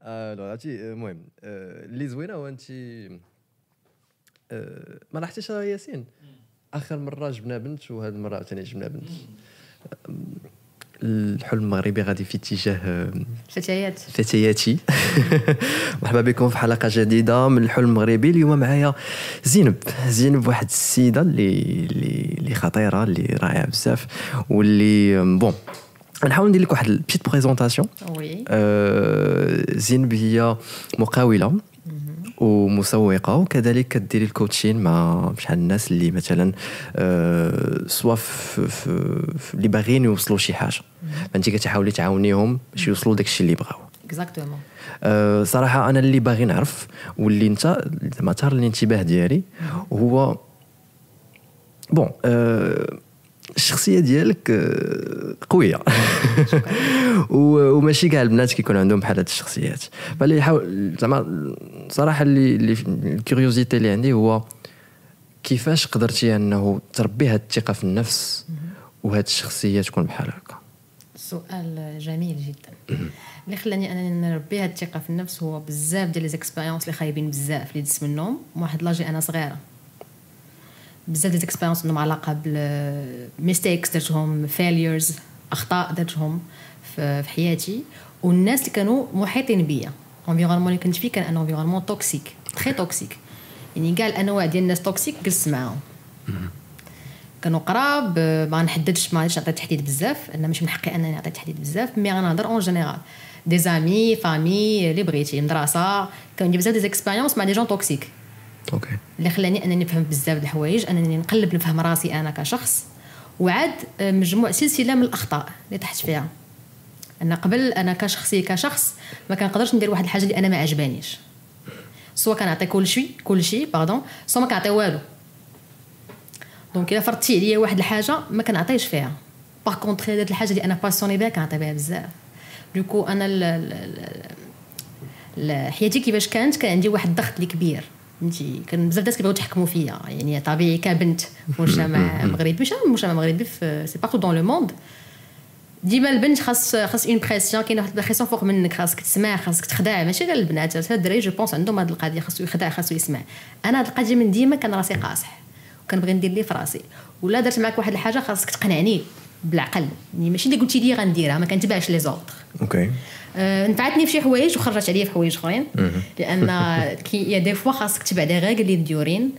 alors عرفتي، المهم اللي زوينة هو انت ما لاحظتيش ياسين، اخر مرة جبنا بنت وهذه المرة عاوتاني جبنا بنت. الحلم المغربي غادي في اتجاه فتيات. فتياتي. مرحبا بكم في حلقة جديدة من الحلم المغربي. اليوم معايا زينب. زينب واحد السيدة اللي خطيرة، اللي رائعة بزاف، واللي bon نحاول ندير لك واحد ال petite présentation. oui. زينب هي مقاوله ومسوقه، وكذلك كديري ال coaching مع شحال الناس اللي مثلا soit في اللي باغيين يوصلوا شي حاجه، فانت كتحاولي تعاونيهم باش يوصلوا داكشي اللي بغاو. exactement. صراحة انا اللي باغي نعرف واللي انت زعما ثار الانتباه ديالي هو bon الشخصية ديالك قوية وماشي كاع البنات كيكون عندهم بحال هاد الشخصيات. فاللي حاول زعما صراحة اللي ال curiosité اللي عندي هو كيفاش قدرتي انه تربي هاد الثقة في النفس وهاد الشخصية تكون بحال هكا؟ سؤال جميل جدا. اللي خلاني انني نربي هاد الثقة في النفس هو بزاف ديال les expériences اللي خايبين بزاف اللي دزت منهم واحد l'âge انا صغيره، بزاف ديال expériences عندهم علاقة بال mistakes درتهم، failures، اخطاء درتهم في حياتي، والناس اللي كانوا محيطين بيا، environnement اللي كنت فيه كان un environnement toxique، très toxique. يعني كاع الانواع ديال الناس toxiques جلست معاهم، كانوا قراب. ما نحددش، ما غاديش نعطي تحديد بزاف، انا ماشي من حقي انني نعطي تحديد بزاف، mais غنهضر en général، des amis، famille، اللي بغيتي، مدرسه، كان عندي بزاف des expériences مع des gens toxiques. اللي خلاني انني نفهم بزاف د الحوايج، انني نقلب نفهم راسي انا كشخص، وعاد مجموع سلسلة من الاخطاء اللي طحت فيها. انا قبل انا كشخصية كشخص ما كنقدرش ندير واحد الحاجة اللي انا ما عجبانيش، soit كنعطي كل شيء كل شيء pardon، soit ما كنعطي والو. donc الا فرضتي عليا واحد الحاجة ما كنعطيش فيها. par contre هاد الحاجة اللي انا passionnée بها كنعطي بها بزاف. du coup انا حياتي كيفاش كانت، كان عندي واحد الضغط اللي كبير، فهمتي؟ كان بزاف الناس كيبغيو يتحكموا فيا، يعني طبيعي كبنت في مجتمع مغربي، ماشي مجتمع مغربي، في c'est partout dans le monde، ديما البنت خاص une pression، كاينه واحد ال pression فوق منك، خاصك تسمع، خاصك تخدع. ماشي غير البنات، حتى الدراري je pense عندهم هذه القضيه، خاصو يخدع، خاصو يسمع. انا هذه القضية من ديما كان راسي قاصح وكنبغي ندير لي في راسي، ولا درت معاك واحد الحاجة خاصك تقنعني بالعقل، يعني ماشي اللي قلتي لي غنديرها، ما كنتبعش les ordres. نفعتني في شي حوايج وخرجت عليا في حوايج اخرين، لان كي y a des fois خاصك تبع des règles اللي مديورين،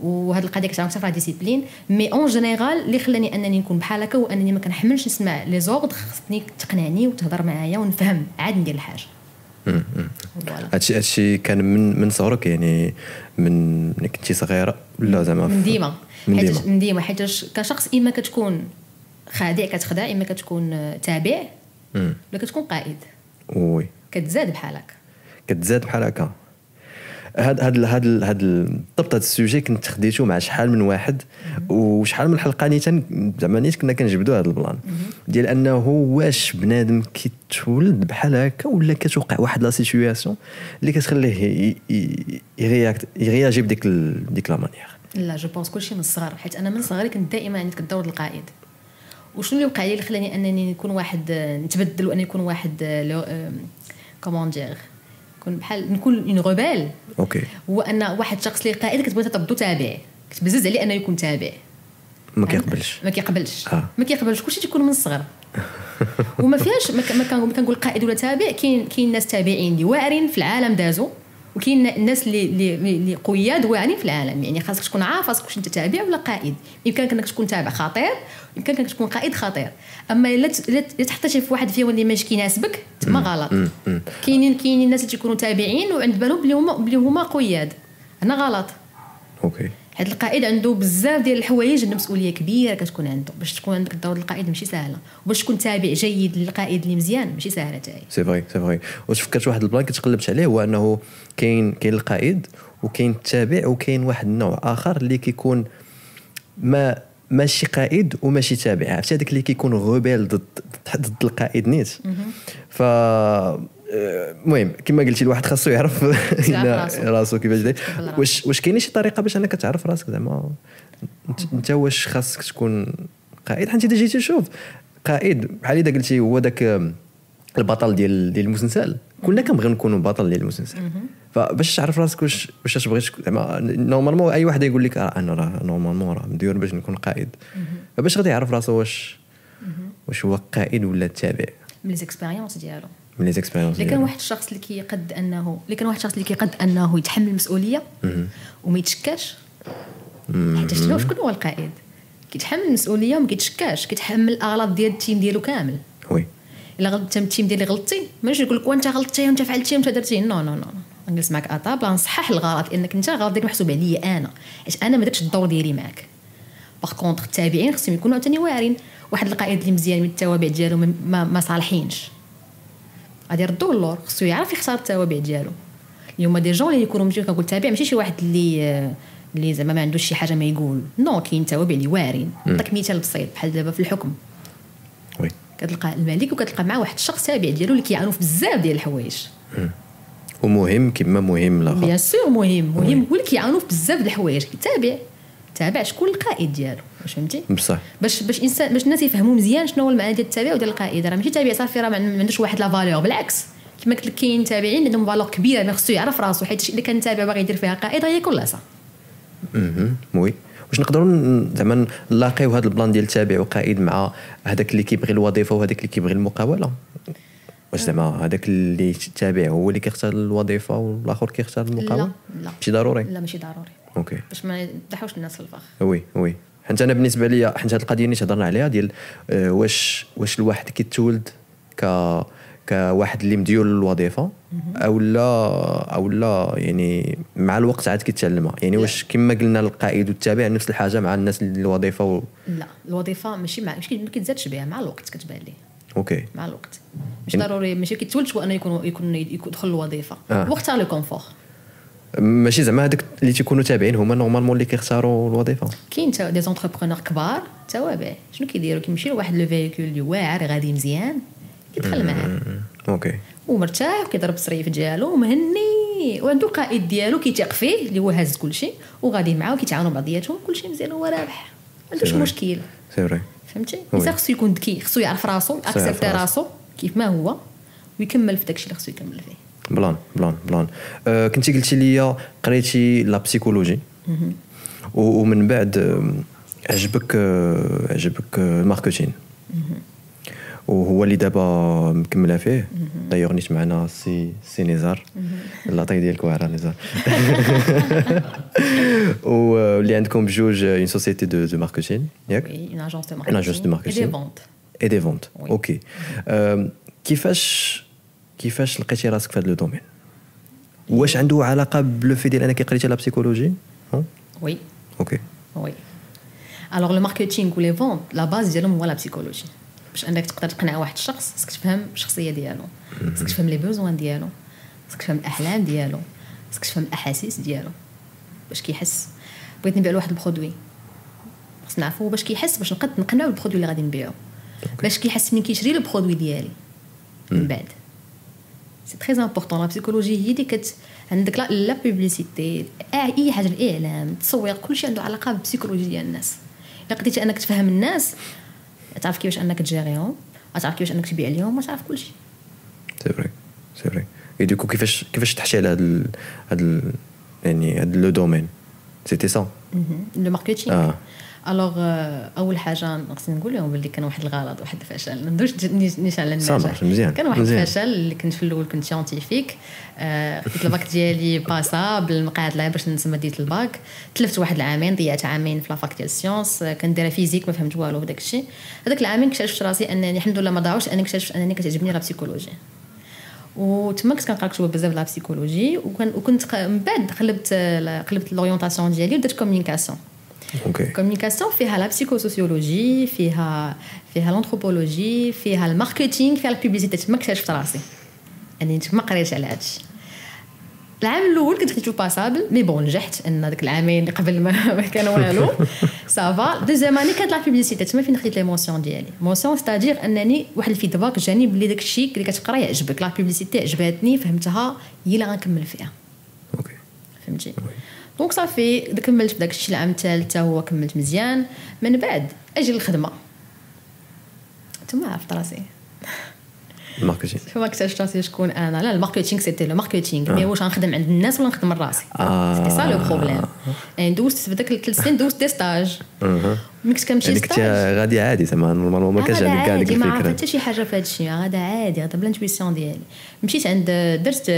وهاد القضية كتعاون في discipline. mais en général اللي خلاني انني نكون بحال هكا هو انني ما كنحملش نسمع les ordres، خصني تقنعني وتهضر معايا ونفهم عاد ندير الحاجه. voilà. هادشي كان من صغرك، يعني من كنتي صغيرة ولا زعما؟ من ديما. من ديما. من ديما، حيت كشخص اما كتكون خادع كتخدع، اما كتكون تابع، ولا كتكون قائد. كتزاد بحال هكا. كتزاد بحال هكا. هاد بالضبط هاد ال sujet كنت خديته مع شحال من واحد وشحال من حلقة نيت، زعما نيت كنا كنجبدوا هاد ال plan ديال انه واش بنادم كيتولد بحال هكا ولا كتوقع واحد la situation اللي كتخليه ي réagir بديك ديك la manière. لا، je pense كلشي من الصغر، حيت انا من صغري كنت دائما عندك الدور القائد. وشنو اللي وقع لي اللي خلاني انني نكون واحد نتبدل واني نكون واحد comment dire، نكون بحال نكون une rebelle؟ هو ان واحد الشخص اللي قائد كتبغي تردو تابع، كتبزز عليه انه يكون تابع. ما كيقبلش. ما كيقبلش. ما كيقبلش. كلشي تيكون من الصغر وما فيهاش ما كنقول قائد ولا تابع. كاين ناس تابعين اللي واعرين في العالم دازوا، وكاين الناس اللي قياد واعرين في العالم. يعني خاصك تكون عارف راسك واش انت تابع ولا قائد. يمكنك انك تكون تابع خطير، يمكنك انك تكون قائد خطير. اما الا تحطيتي في واحد فيهم اللي ماشي كيناسبك تما غلط. كاينين الناس اللي تيكونوا تابعين وعند بالهم بلي هما قياد، هنا غلط. حيت القائد عنده بزاف ديال الحوايج، عنده مسؤولية كبيرة كتكون عنده. باش تكون عندك الدور القائد ماشي سهله، وباش تكون تابع جيد للقائد اللي مزيان ماشي سهلة حتى هي. c'est vrai، c'est vrai. واش فكرت واحد ال plan كنت قلبت عليه، هو انه كاين القائد وكاين التابع وكاين واحد النوع اخر اللي كيكون ما ماشي قائد وماشي تابع، عرفتي؟ هذاك اللي كيكون rebelle ضد القائد نيت. ف المهم كما قلتي الواحد خاصو يعرف راسو كيفاش داير. واش كاينه شي طريقه باش انك تعرف راسك زعما انت واش خاصك تكون قائد؟ حيت انت جيتي تشوف قائد بحال اذا قلتي هو داك البطل ديال المسلسل، كلنا كنبغيو نكونوا بطل ديال المسلسل. فباش تعرف راسك واش تبغي، زعما normalement اي واحد يقول لك انا راه normalement راه مديور باش نكون قائد، فباش غادي يعرف راسو واش هو قائد ولا تابع؟ من les expériences ديالو، من les expériences. اللي كان واحد الشخص اللي كيقد انه يتحمل المسؤولية وما يتشكاش، حيت شنو شكون هو القائد؟ كيتحمل المسؤولية وما كيتشكاش، كيتحمل الاغلاط ديال ال team ديالو كامل. oui الا غلطت ال team ديالي غلطتي، ماشي يقول لك وانت غلطتي وانت فعلتي وانت درتي، non non non، نجلس معك à table نصحح الغلط، لانك انت غلط ديالك محسوب عليا انا، حيت انا ما درتش الدور ديالي معك. par contre التابعين خصهم يكونوا عاوتاني واعرين. واحد القائد اللي مزيان من التوابع ديالو ما صالحينش، غادي يردوه اللور، خصو يعرف يختار التوابع ديالو. اليوم des gens اللي يكونوا ماشي كنقول تابع، ماشي شي واحد اللي زعما ما عندوش شي حاجة ما يقول، non، كاين توابع اللي واعرين. نعطيك مثال بسيط، بحال دابا في الحكم، oui كتلقى الملك وكتلقى معاه واحد الشخص تابع ديالو اللي كيعاونو في بزاف ديال الحوايج، ومهم كما مهم الاخر، bien sûr مهم هو اللي كيعاونو في بزاف ديال الحوايج. تابع شكون القائد ديالو، واش فهمتي؟ بصح باش انسان، باش الناس يفهموا مزيان شنو هو المعنى ديال التابع وديال القائد. راه ماشي تابع صافي راه ما عندوش واحد la valeur، بالعكس كما قلت لك كاين تابعين عندهم valeur كبيرة، ما خصو يعرف راسو، حيت الا كان تابع باغي يدير فيها قائد غياكل لاصه. oui واش نقدروا زعما نلاقيو هذا ال plan ديال تابع وقائد مع هذاك اللي كيبغي الوظيفة وهذاك اللي كيبغي المقاوله؟ واش زعما هذاك اللي تابع هو اللي كيختار الوظيفة والاخر كيختار المقاوله؟ لا ماشي ضروري. لا ماشي ضروري. OK باش ما نضحوش الناس في الفخ. oui oui حيت انا بالنسبة لي، حيت هذه القضية اللي هضرنا عليها ديال واش الواحد كيتولد كواحد اللي مديول للوظيفة او لا يعني مع الوقت عاد كيتعلمها، يعني واش كما قلنا القائد والتابع نفس الحاجة مع الناس اللي الوظيفة لا الوظيفة ماشي مع ماشي ما كيتزادش بها، مع الوقت كتبان ليه. OK مع الوقت مش ضروري، ماشي كيتولدش هو انه يكون يدخل الوظيفة، واختار le confort. ماشي زعما هذوك اللي تيكونوا تابعين هما normalement اللي كيختاروا الوظيفة. كاين des entrepreneurs كبار توابع، شنو كيديروا؟ كيمشيو لواحد le véhicule اللي واعر غادي مزيان، كيدخل معاه OK ومرتاح وكيضرب الصريف ديالو ومهني، وعنده قائد ديالو كيثيق فيه اللي هو هاز كلشي وغادي معاه وكيتعاونوا بعضياتهم، كلشي مزيان وهو رابح، ما عندوش مشكل. c'est vrai فهمتي؟ الانسان خصو يكون ذكي، خصو يعرف راسو، accepter راسو كيف ما هو ويكمل في داكشي اللي خصو يكمل فيه. plan plan plan. كنتي قلتي لي قريتي la psychologie ومن بعد عجبك ال marketing وهو اللي دابا مكملة فيه. دايوغ نيت معنا سي نزار، la taille ديالك واعرة نزار. واللي عندكم بجوج une société de marketing ياك؟ une agence de marketing، une agence de marketing et des ventes. OK كيفاش لقيتي راسك في هذا le domaine؟ واش عنده علاقة ب le fait ديال انك قريتي la psychologie؟ oui OK oui. alors le marketing و les ventes la base ديالهم هو la psychologie. باش انك تقدر تقنع واحد الشخص خصك تفهم الشخصية ديالو، خصك تفهم les besoins ديالو، خصك تفهم الاحلام ديالو، خصك تفهم الاحاسيس ديالو باش كيحس. بغيت نبيع له واحد ال produit خص نعرفو باش كيحس، باش نقد نقنعو بال produit اللي غادي نبيعو، باش كيحس من كيشري le produit ديالي من بعد. c'est très important la psychologie هي اللي عندك la publicité، اي حاجة، الاعلام، التسويق، كلشي عنده علاقة بال psychologie ديال الناس. الا قدرتي انك تفهم الناس، تعرف كيفاش انك تجيريهم، تعرف كيفاش انك تبيع لهم، وتعرف كلشي. c'est vrai c'est vrai. et du coup كيفاش تحشي على هاد يعني هاد le domaine؟ c'était ça le marketing. alors اول حاجة خصني نقول لهم باللي كان واحد الغلط، واحد الفشل، ما ندوش نيشان على النجاح. كان واحد الفشل اللي كنت في الاول كنت scientifique، خديت الباك ديالي passable المقعد باش نسمى ديت الباك، تلفت واحد العامين، ضيعت عامين في la fac ديال ال sciences، كنديرها physique ما فهمت والو في داك الشيء. هذاك العامين اكتشفت راسي انني الحمد لله ما ضاعوش، انني اكتشفت انني كتعجبني la psychologie، وتما كنت كنقرا كتب بزاف la psychologie، وكنت من بعد قلبت l'orientation ديالي ودرت communication. communication فيها la psychosociologie، فيها l'anthropologie، فيها ال marketing، فيها ال publicité. تما اكتشفت راسي اني تما قريت على هادشي. العام الاول كنت خديتو passable، mais bon نجحت ان داك العامين اللي قبل ما كان والو ça va. deuxième année كانت la publicité، تما فين خديت les mentions ديالي. mention c'est-à-dire انني واحد ال feedback جاني بلي داك الشيء اللي كتقرا يعجبك. la publicité عجبتني، فهمتها، هي اللي غنكمل فيها. OK فهمتي. donc صافي كملت في داك الشيء. العام الثالث هو كملت مزيان. من بعد اجي للخدمة تما عرفت راسي. ال marketing. ما اكتشفت راسي شكون انا. لا، ال marketing c'était le marketing، mais واش غنخدم عند الناس ولا نخدم راسي؟ c'était ça le problème. يعني دوزت في داك ال3 سنين، دوزت des stages. ملي كنت كنمشي يعني كنت غادي عادي زعما، normalement ما كانش عندك كاع ديك الفكره. ما عرفت الفكره. حتى شي حاجة في هذا الشيء، غادا عادي، غادا ب l'intuition ديالي. مشيت عند درت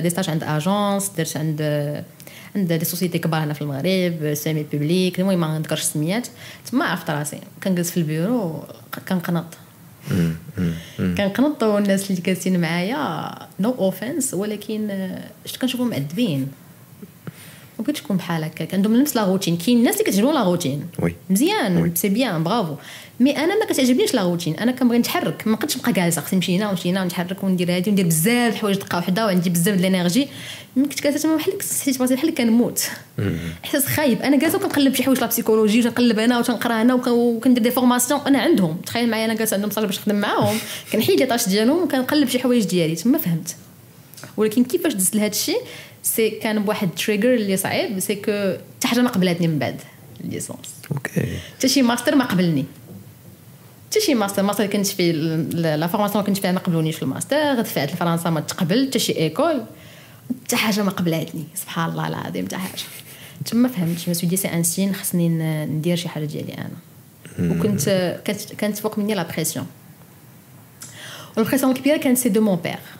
des stages عند agence، درت عند des sociétés كبار هنا في المغرب، semi-publiques، المهم ما نذكرش السميات. تما عرفت راسي كنجلس في البيرو كنقنط كنقنط، والناس اللي جالسين معايا، no offense، ولكن شفت كنشوفهم معذبين. ما بغيتش نكون بحال هكاك، عندهم نفس la routine. كاين الناس اللي كتعجبهم la routine. مزيان، c'est bien، bravo، mais انا ما كتعجبنيش la routine. انا كنبغي نتحرك، ما نقدش نبقى جالسه، خصني نمشي هنا ونمشي هنا ونتحرك وندير هادي وندير بزاف الحوايج دقه وحده، وعندي بزاف د l'énergie. ملي كنت جالسة تما بحال حسيت راسي بحال كنموت، احساس خايب. انا جالسة وكنقلب شي حوايج la psychologie، وتنقلب انا وتنقرا انا وكندير des formations انا عندهم. تخيل معايا، انا جالسة عندهم stage باش نخدم معاهم، كنحيد les tâches ديالهم وكنقلب شي حوايج ديالي. تما فهمت. ولكن كيفاش دزت لهذا الشيء؟ c'est كان بواحد trigger اللي صعيب، c'est que حتى حاجة ما قبلتني من بعد ال licence. حتى شي ماستر ما قبلني، حتى شي master. master كنت في la formation كنت فيها ما قبلونيش في الماستر. دفعت لفرنسا ما تقبل، حتى شي école، حتى حاجة ما قبلتني. سبحان الله العظيم، حتى حاجه. تما فهمت، je me suis dit c'est un signe، خصني ندير شي حاجة ديالي انا. وكنت كانت فوق مني la pression، وال pression الكبيرة كانت c'est de mon père.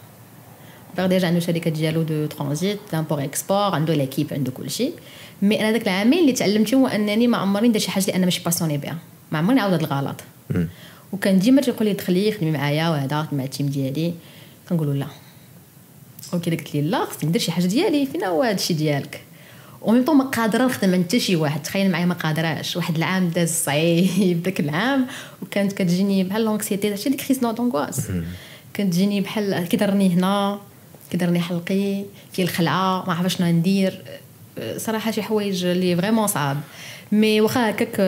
père déjà عنده شركة ديالو de transit، d'import export، عنده l'équipe، عنده كل شيء. mais انا داك العامين اللي تعلمت هو انني ما عمرني ندير شي حاجة اللي انا ماشي passionnée بها، ما عمرني نعاود هذا الغلط. وكان ديما تيقول لي دخلي خدمي معايا وهذا مع ال team ديالي، كنقولوا لا. okay، قلت لي لا، خصني ندير شي حاجة ديالي، فين هو هذا الشيء ديالك؟ و même temps ما قادرة نخدم عند حتى شي واحد. تخيل معايا، ما قادراش. واحد العام داز صعيب داك العام، وكانت كتجيني بحال l'anxiété، عرفتي ديك crise d'angoisse، كانت تجيني بحال كيضرني هنا، كيضرني حلقي، في الخلعه، ما عرفت شنو ندير. صراحة شي حوايج اللي vraiment صعاب. mais واخا هكاك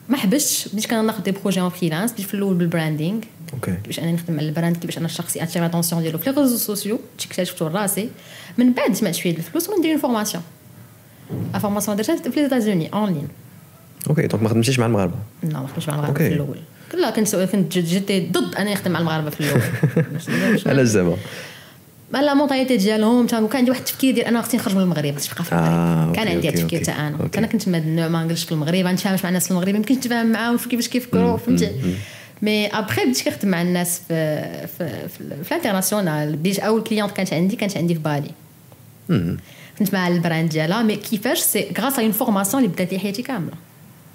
ما حبستش، بديت كناخذ des projets en freelance. بديت في الاول بال branding. كيفاش انا نخدم على ال brand، كيفاش انا الشخص attirer l'attention ديالو في les réseaux sociaux. اكتشفتو راسي. من بعد جمعت شوية الفلوس وندير une formation. la formation درتها في les États-Unis en ligne. okay، donc ما خدمتيش مع المغاربه؟ لا، ما خدمتش مع المغاربة في الاول. لا، كنت j'étais ضد انني نخدم مع المغاربة في الاول. علاش زعما؟ la mentalité ديالهم. كان عندي واحد التفكير ديال انا خصني نخرج من المغرب، خصني نبقى في المغرب. كان عندي هذا التفكير تاع انا. انا كنت من هذا النوع، ما نجلسش في المغرب، ما نتفاهمش مع الناس في المغرب، يمكن نتفاهم معاهم في كيفاش كيفكروا، فهمتي؟ mais après بديت كنخدم مع الناس في l'international. بديت اول cliente كانت عندي في بالي، كنت مع ال brand ديالها. mais كيفاش؟ c'est grâce à une formation اللي بدات لي حياتي كامله.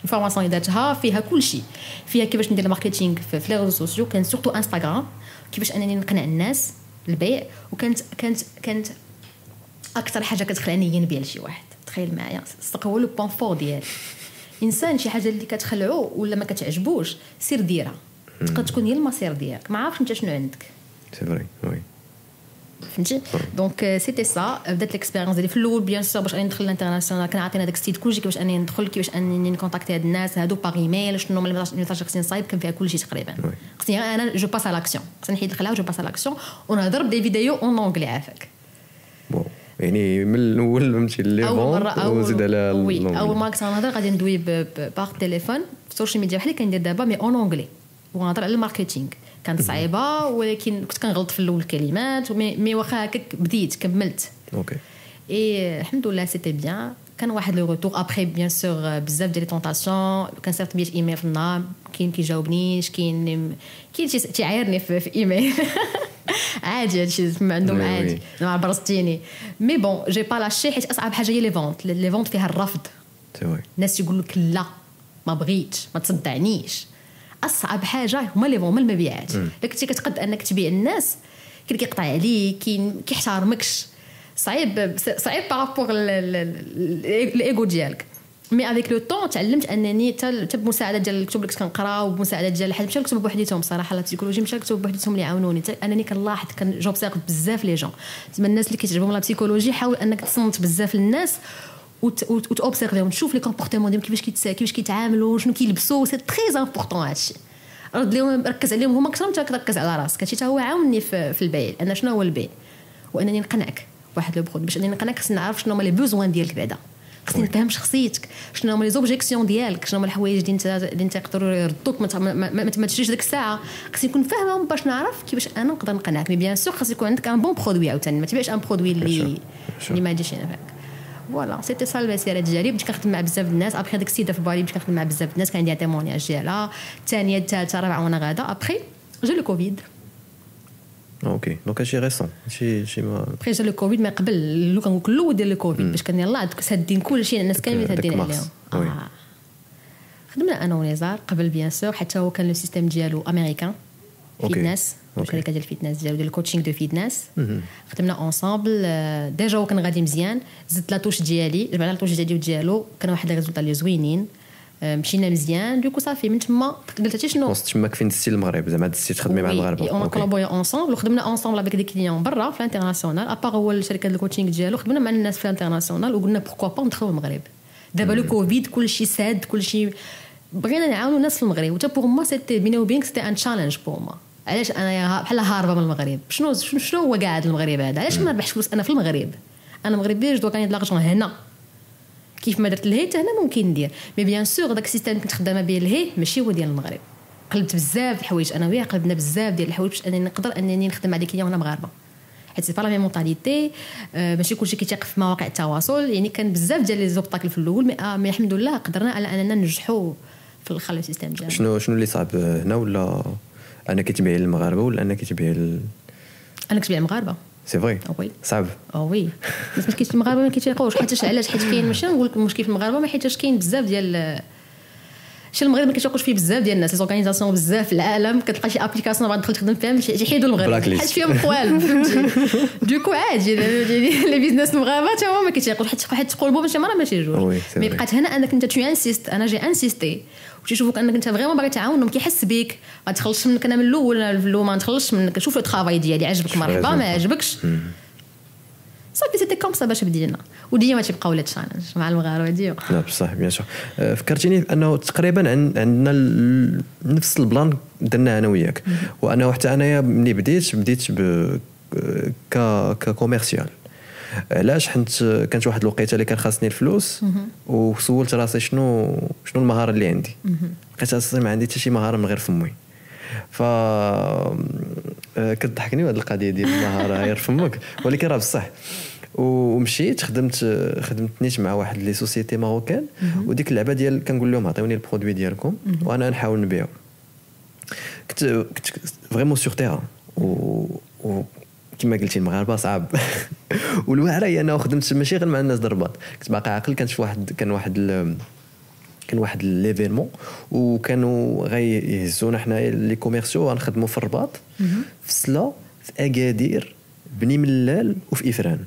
ال formation اللي درتها فيها كل شيء، فيها كيفاش ندير ال marketing في les réseaux sociaux، كان surtout انستغرام، كيفاش انني نقنع الناس البيع. وكانت كانت كانت اكثر حاجة كتخلعني هي نبيع لشي واحد. تخيل معايا، الصدق هو le point fort ديالي. انسان شي حاجة اللي كتخلعو ولا ما كتعجبوش، سير ديرها، تقدر تكون هي المصير ديالك. ما عارفش انت شنو عندك. c'est vrai، oui. فهمتي؟ donc c'était ça. بدات l'expérience ديالي في الاول، bien sûr باش اني ندخل l'international كان عاطينا داك السيت كلشي، كيفاش اني ندخل، كيفاش انني ن contacter هاد الناس هادو par email، شنو هما les messages خصني نصايب. كان فيها كلشي تقريبا. خصني انا je passe à l'action، خصني نحيد الخلاعه و je passe à l'action ونهضر ب des vidéos en anglais عافاك. bon، يعني من الاول فهمتي les ventes وزيد على oui، اول ما كنت نهضر غادي ندوي par téléphone في ال social media بحال اللي كندير دابا، mais en anglais، ونهضر على ال marketing. كانت صعيبه، ولكن كنت كنغلط في الاول الكلمات، mais واخا هكاك بديت كملت. Et الحمد لله c'était bien، كان واحد le retour. après bien sûr بزاف ديال les tentations، كنصيفط 100 ايميل في النهار، كاين كيجاوبنيش، كاين تيعايرني في ايميل، عادي هادشي ما عندهم عادي، ما برزتيني. mais bon، j'ai pas lâché، حيت اصعب حاجة هي les ventes. les ventes فيها الرفض. الناس يقول لك لا، ما بغيتش، ما تصدعنيش. اصعب حاجة هما les ventes، هما المبيعات. الا كنتي كتقد انك تبيع الناس، كاين كيقطع عليك، كاين كيحترمكش، صعيب صعيب par rapport l'ego ديالك. mais avec le temps تعلمت انني حتى بمساعدة ديال الكتب اللي كنت كنقرا وبمساعده ديال الحاجات، ماشي الكتب بوحديتهم، صراحة la psychologie ماشي الكتب بوحديتهم اللي عاونوني، انني كنلاحظ، كان j'observe بزاف les gens. زعما الناس اللي كيتعجبهم la psychologie، حاول انك تصنت بزاف للناس وت observer هم، تشوف les comportements ديالهم، كيفاش كيتعاملوا، شنو كيلبسوا. c'est très important هادشي. رد لهم، ركز عليهم هما اكثر من تركز على راسك. هادشي حتى هو عاوني في البيع. انا شنو هو البيع؟ وانني نقنعك واحد le produit. باش انني نقنعك خصني نعرف شنو هما les besoins ديالك بعدا. خصني نفهم شخصيتك، شنو هما les objections ديالك، شنو هما الحوايج اللي انت يقدروا يردوك ما تشريش ديك الساعه. خصني نكون فاهمه باش نعرف كيفاش انا نقدر نقنعك. mais bien sûr خاص يكون عندك un bon produit عاوتاني، ما تبيعش un produit اللي ما يجيش ينفعك. voilà، c'était ça المسيرة ديالي. بديت كنخدم مع بزاف الناس. après ديك السيدة في بالي بديت كنخدم مع بزاف الناس، كان عندي témoignage ديالها، الثانيه، الثالثه، الرابعه، وانا غاده. après جا le Covid. OK، donc هادشي récent، هادشي ما après جا le Covid، ما قبل لو كنقول الاول ديال الكوفيد باش كان يلاه سادين كلشي، الناس كاملين سادين عليهم. خدمنا انا ونزار قبل bien sûr، حتى هو كان le système ديالو américain، fitness، الشركة ديال ال fitness ديالو، ديال ال coaching de fitness. خدمنا ensemble، déjà هو كان غادي مزيان، زدت la touche ديالي، جمعنا la touche ديالي وديالو، كان واحد les résultats اللي زوينين، مشينا مزيان. du coup صافي من تما قلت عرفتي شنو، وسط تما فين دزتي المغرب، زعما دزتي تخدمي مع المغاربه؟ on collaborait ensemble وخدمنا ensemble avec des clients برا في l'international. à part هو الشركة ديال ال coaching ديالو، خدمنا مع الناس في l'international وقلنا pourquoi pas ندخلوا المغرب. دابا le Covid كلشي ساد كلشي، بغينا نعاونوا الناس في المغرب. وتا pour moi c'était، بيني وبينك، c'était un challenge pour moi. علاش انا بحال هاربه من المغرب؟ شنو هو قاعد المغرب هذا؟ علاش ما نربحش فلوس انا في المغرب؟ انا مغربيه، je dois gagner de l'argent هنا. كيف ما درت لهي حتى هنا ممكن ندير. mais bien sûr داك ال système كنت خدامه به لهي ماشي هو ديال المغرب. قلبت بزاف الحوايج، انا وياه قلبنا بزاف ديال الحوايج باش انني نقدر انني نخدم مع des clients هنا مغاربه، حيت c'est pas la même mentalité، ماشي كلشي كيتيق في مواقع التواصل. يعني كان بزاف ديال les obstacles في الاول، mais الحمد لله قدرنا على اننا ننجحوا في الاخر le système ديالنا. شنو اللي صعب هنا؟ ولا انا كتبيعي للمغاربة ولا انا كتبيعي انا كتبيع المغاربه. c'est vrai؟ oui. صعب. oh oui، الناس ما كاينش، المغاربة ما كيتيقوش. حيت علاش؟ حيت كاين، ماشي نقول لك المشكل في المغاربه، ما حيتاش كاين بزاف ديال شي، المغرب ما كيتيقوش فيه بزاف ديال الناس. les organisations بزاف في العالم كتلقى شي application بغا تدخل تخدم فيها تيحيدوا المغرب حيت فيهم قوالب، فهمتي؟ du coup عادي les business المغاربة حتى هما ما كيتيقوش، حيت تقولبوا ماشي مرة ماشي جوج. mais بقات هنا انك انت tu insistes. انا j'ai insisté، وتيشوفوك انك انت vraiment باغي تعاونهم، كيحس بك ما تخلصش منك. انا من الاول ما نتخلصش منك، شوف le travail ديالي، عجبك مرحبا، ما عجبكش صافي. c'était comme ça باش بدينا، وديما تيبقاو les challenges مع المغاربة ديما. لا بصح bien sûr، فكرتيني انه تقريبا عندنا نفس ال plan درناه انا وياك، وانه حتى انايا ملي بديت ك commercial. علاش؟ حيت كانت واحد الوقيته اللي كان خاصني الفلوس، وسولت راسي شنو المهارة اللي عندي، لقيت راسي ما عندي حتى شي مهارة من غير فمي. ف كتضحكني هذه القضية ديال المهارة غير فمك، ولكن راه بصح. ومشيت خدمت نيت مع واحد les sociétés marocaines، وديك اللعبة ديال كنقول لهم عطيوني ال produit ديالكم وانا نحاول نبيعو. كنت vraiment sur terrain، و كما قلتي المغاربة صعب. والواعره هي انه خدمت ماشي غير مع الناس الرباط. كنت باقي عاقل، كانت واحد كان واحد كان واحد l'événement، وكانوا غيهزونا حنايا les commerciaux غنخدموا في الرباط، في سلا، في اكادير، بني ملال وفي افران.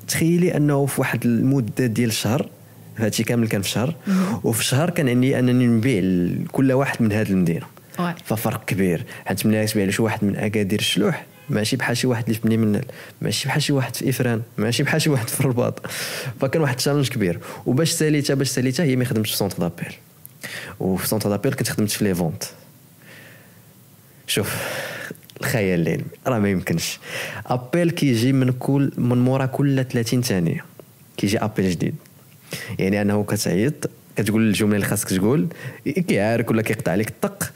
تخيلي انه في واحد المدة ديال شهر، هادشي كامل كان في شهر، وفي شهر كان عندي انني نبيع كل واحد من هذه المدينه. ففرق كبير، حيت ملي تبيع لشي واحد من اكادير الشلوح ماشي بحال شي واحد اللي في بني ملال، ماشي بحال شي واحد في افران، ماشي بحال شي واحد في الرباط. فكان واحد ال challenge كبير. وباش ساليتها هي ما خدمتش في centre d'appel، وفي centre d'appel كنت خدمت في les ventes. شوف الخيال العلمي راه ما يمكنش، appel كيجي من مورا كل 30 ثانية كيجي appel جديد. يعني انه كتعيط، كتقول الجملة اللي خاصك تقول، كيعارك ولا كيقطع عليك الطق،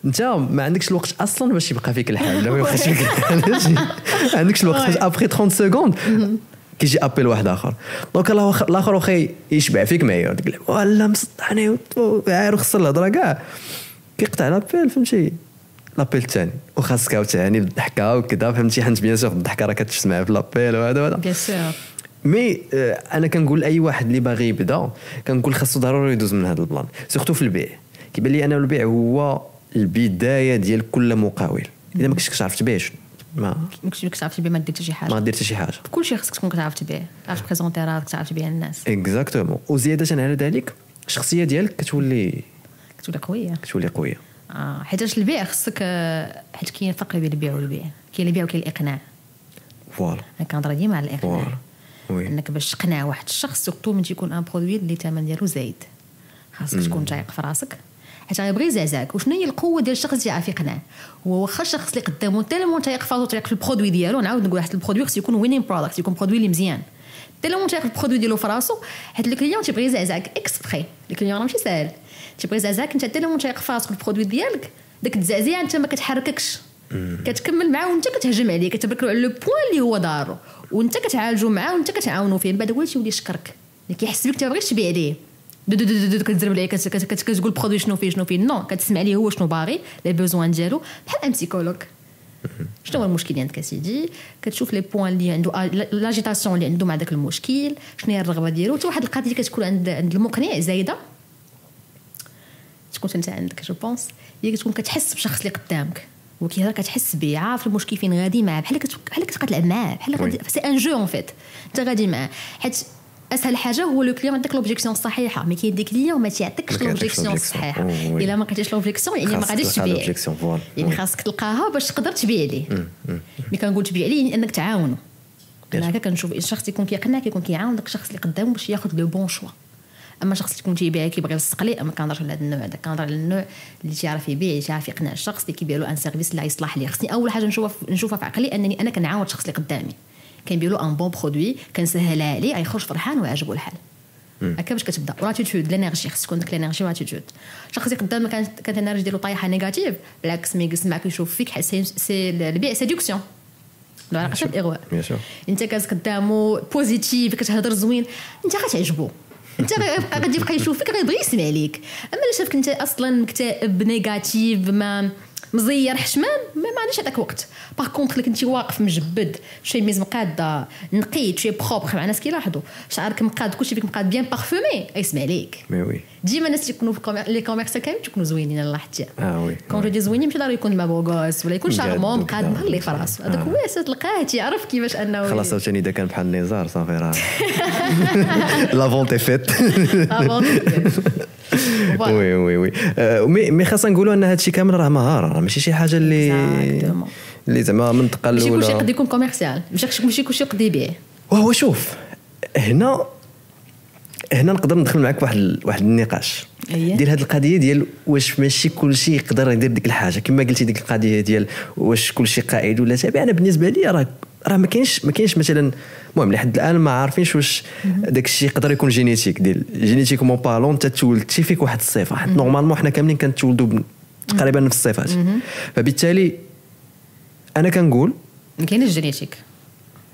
انت ما عندكش الوقت اصلا باش يبقى فيك الحال. لا ما يبقاش فيك الحال، ما عندكش الوقت. après 30 secondes كيجي appel واحد اخر، donc الاخر واخا يشبع فيك معايا تقول ولا مسطحني عاير وخسر الهضرة كاع، كيقطع l'appel، فهمتي؟ l'appel الثاني وخاصك عاوتاني بالضحكه وكذا، فهمتي؟ حيت bien sûr الضحكة راه كتسمع في l'appel وهذا وهذا. bien sûr. mais انا كنقول اي واحد اللي باغي يبدا، كنقول خاصو ضروري يدوز من هذا ال plan، surtout في البيع. كيبان لي انا البيع هو البداية ديال كل مقاول. اذا ما كنتش كتعرف تبيع ما ما كنتش كتعرف تبيع ما دير حتى شي حاجه. ما دير حتى شي حاجه. كلشي خصك تكون كتعرف تبيع، تعرف présenter راسك، تعرف تبيع الناس. exactement. وزيادة على ذلك الشخصية ديالك كتولي كتولي قويه. كتولي قويه. حيتاش البيع خصك، حيت كاين فرق بين البيع والبيع، كاين البيع وكاين الاقناع. voilà. انا كنهضر ديما على الاقناع. voilà، oui. انك باش تقنع واحد الشخص، surtout من تيكون un produit اللي الثمن ديالو زايد، خاصك تكون تايق في راسك، حيت غيبغي يزعزعك. وشنو هي القوة ديال الشخص اللي يعرف يقنع؟ هو واخا الشخص اللي قدامه tellement تايق في راسو، تايق في ال produit ديالو. نعاود نقول واحد ال produit خص يكون winning product، يكون produit اللي مزيان. tellement تياخذ ال produit ديالو في راسو، حيت le client تيبغي يزعزعك exprès. le client راه ماشي ساهل، تيبغي يزعزعك انت tellement تياخذ في راسك ال produit ديالك، داك التزعزيع انت ما كتحرككش، كتكمل معاه وانت كتهجم عليه، كتبرك له على le point اللي هو دارو وانت كتعالجو معاه وانت كتعاونو فيه. من بعد هو تيولي يشكرك، اللي كيحس بك انت ما بغيتش تبيع عليه، دو دو دو دو كتزرب عليه، كتقول produit شنو فيه شنو فيه. non، كتسمع ليه هو شنو باغي، les besoins ديالو، بحال un psychologue. شنو هو المشكل اللي عندك اسيدي، كتشوف les points اللي عنده، l'agitation اللي عنده مع داك المشكل، شنو هي الرغبة ديالو. حتى واحد القضية كتكون عند المقنع زايدة، تكون انت عندك je pense، هي كتكون كتحس بشخص اللي قدامك وكيهضر، كتحس به، عارف المشكل فين غادي معاه، بحال كتبقى تلعب معاه، بحال c'est un jeu en fait، انت غادي معاه. حيت اسهل حاجة هو le client عندك l'objection الصحيحة، mais كاين des clients ما تيعطيكش l'objection الصحيحة. الا ما لقيتيش l'objection يعني ما غاديش تبيع، يعني خاصك تلقاها باش تقدر تبيع ليه. mais كنقول تبيع ليه يعني انك تعاونو. انا هكا كنشوف الشخص يكون كيقنع، كيكون كيعاون داك الشخص اللي قدامه باش ياخذ le bon choix. اما شخص اللي يكون تيبيع كيبغي يلصق ليه، ما كنهضرش على هذا النوع هذا، كنهضر على النوع اللي تيعرف يبيع، اللي تيعرف يقنع الشخص اللي كيبيع له un service اللي يصلح ليه. خصني اول حاجة نشوفها في عقلي انني انا كنعاون الشخص اللي قدامي، كنبيع له un bon produit، كنسهلها عليه، غيخرج فرحان ويعجبو الحال. هكا باش كتبدا. و l'attitude، l'énergie، خص تكون ديك l'énergie و l'attitude. الشخص اللي قدامك كانت l'énergie ديالو طايحة négative، بالعكس ما يجلس معاك يشوف فيك، c'est البيع séduction، له علاقة بالاغواء. انت كاز قدامو positif، كتهضر زوين، انت غتعجبو، انت غادي يبقى يشوفك، غيبغي يسمع ليك. اما الا شافك انت اصلا مكتئب négatif، ما مزير حشمان، ما عنديش هذاك وقت. par contre كنتي واقف مجبد، شوية مقاده، نقي، شوية propre، مع الناس كيلاحظوا شعرك مقاد، كلشي فيك مقاد، bien parfumé، يسمع ليك. mais oui، ديما الناس يكونوا في les commerces كامل تكونوا زوينين. انا لاحظتي oui، quand je dis زوينين ماشي ضروري يكون ما beau gosse ولا يكون charmant، مقاد، مهلي في راسو، هذاك هو تلقاه تيعرف كيفاش انه خلاص. عاوتاني اذا كان بحال نزار صافي راه la vente est faite. oui oui oui، mais خاصنا نقولوا ان هادشي كامل راه مهاره، راه ماشي شي حاجة اللي زعما من الدقة الاولى. ماشي كلشي يقدر يكون commercial، ماشي كلشي يقدر يبيع. وهو شوف هنا نقدر ندخل معك واحد النقاش ديال هذه القضية ديال واش ماشي كلشي يقدر يدير ديك الحاجة، كما قلتي ديك القضية ديال واش كلشي قائد ولا تابع. انا بالنسبة لي راه ما كاينش مثلا، المهم لحد الان ما عارفينش واش داك الشيء يقدر يكون génétique، ديال génétiquement parlant انت تولدتي فيك واحد الصفة، حيت normalement حنا كاملين كنتولدوا تقريبا نفس الصفات. فبالتالي انا كنقول ما كاينش génétique،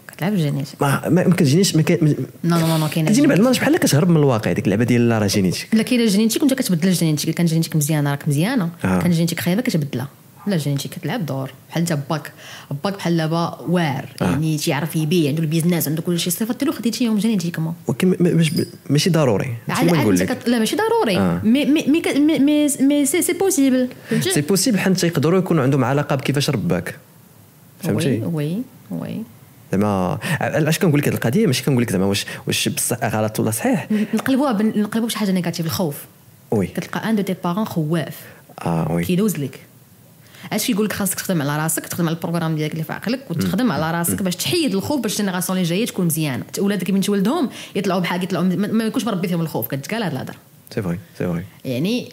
كتلعب génétique، ما كتجينيش، ما non non non كاينه كتجيني بعض المرات بحال كتهرب من الواقع ديك اللعبة ديال لا راه génétique. لا كاينه génétique وانت كتبدل ال génétique. كان génétique مزيانه راك مزيانه، كان génétique خايبة كتبدلها. لا génétique كتلعب دور. بحال انت باك بحال دابا واعر، يعني تيعرف يبيع، عنده ال business، عنده كل شيء، الصفات ديالو خديتيهم génétiquement. ولكن ماشي ضروري نقول لك، لا ماشي ضروري، mais mais mais mais c'est possible، c'est possible حيت يقدروا يكونوا عندهم علاقة بكيفاش رباك، فهمتي؟ oui oui زعما علاش كنقول لك هذه القضية، ماشي كنقول لك زعما واش بصح غلط ولا صحيح. نقلبوها بشي حاجة négative، الخوف. oui، كتلقى un de tes parents خواف، oui، كيدوز لك. اش كيقول لك؟ خاصك تخدم على راسك، تخدم على ال programme ديالك اللي في عقلك، وتخدم على راسك باش تحيد الخوف، باش ال génération اللي جاية تكون مزيانه. ولادك من تولدهم يطلعوا بحال يطلعوا ما يكونش مربي فيهم الخوف. كتقال هاد الهضرة. c'est vrai c'est vrai. يعني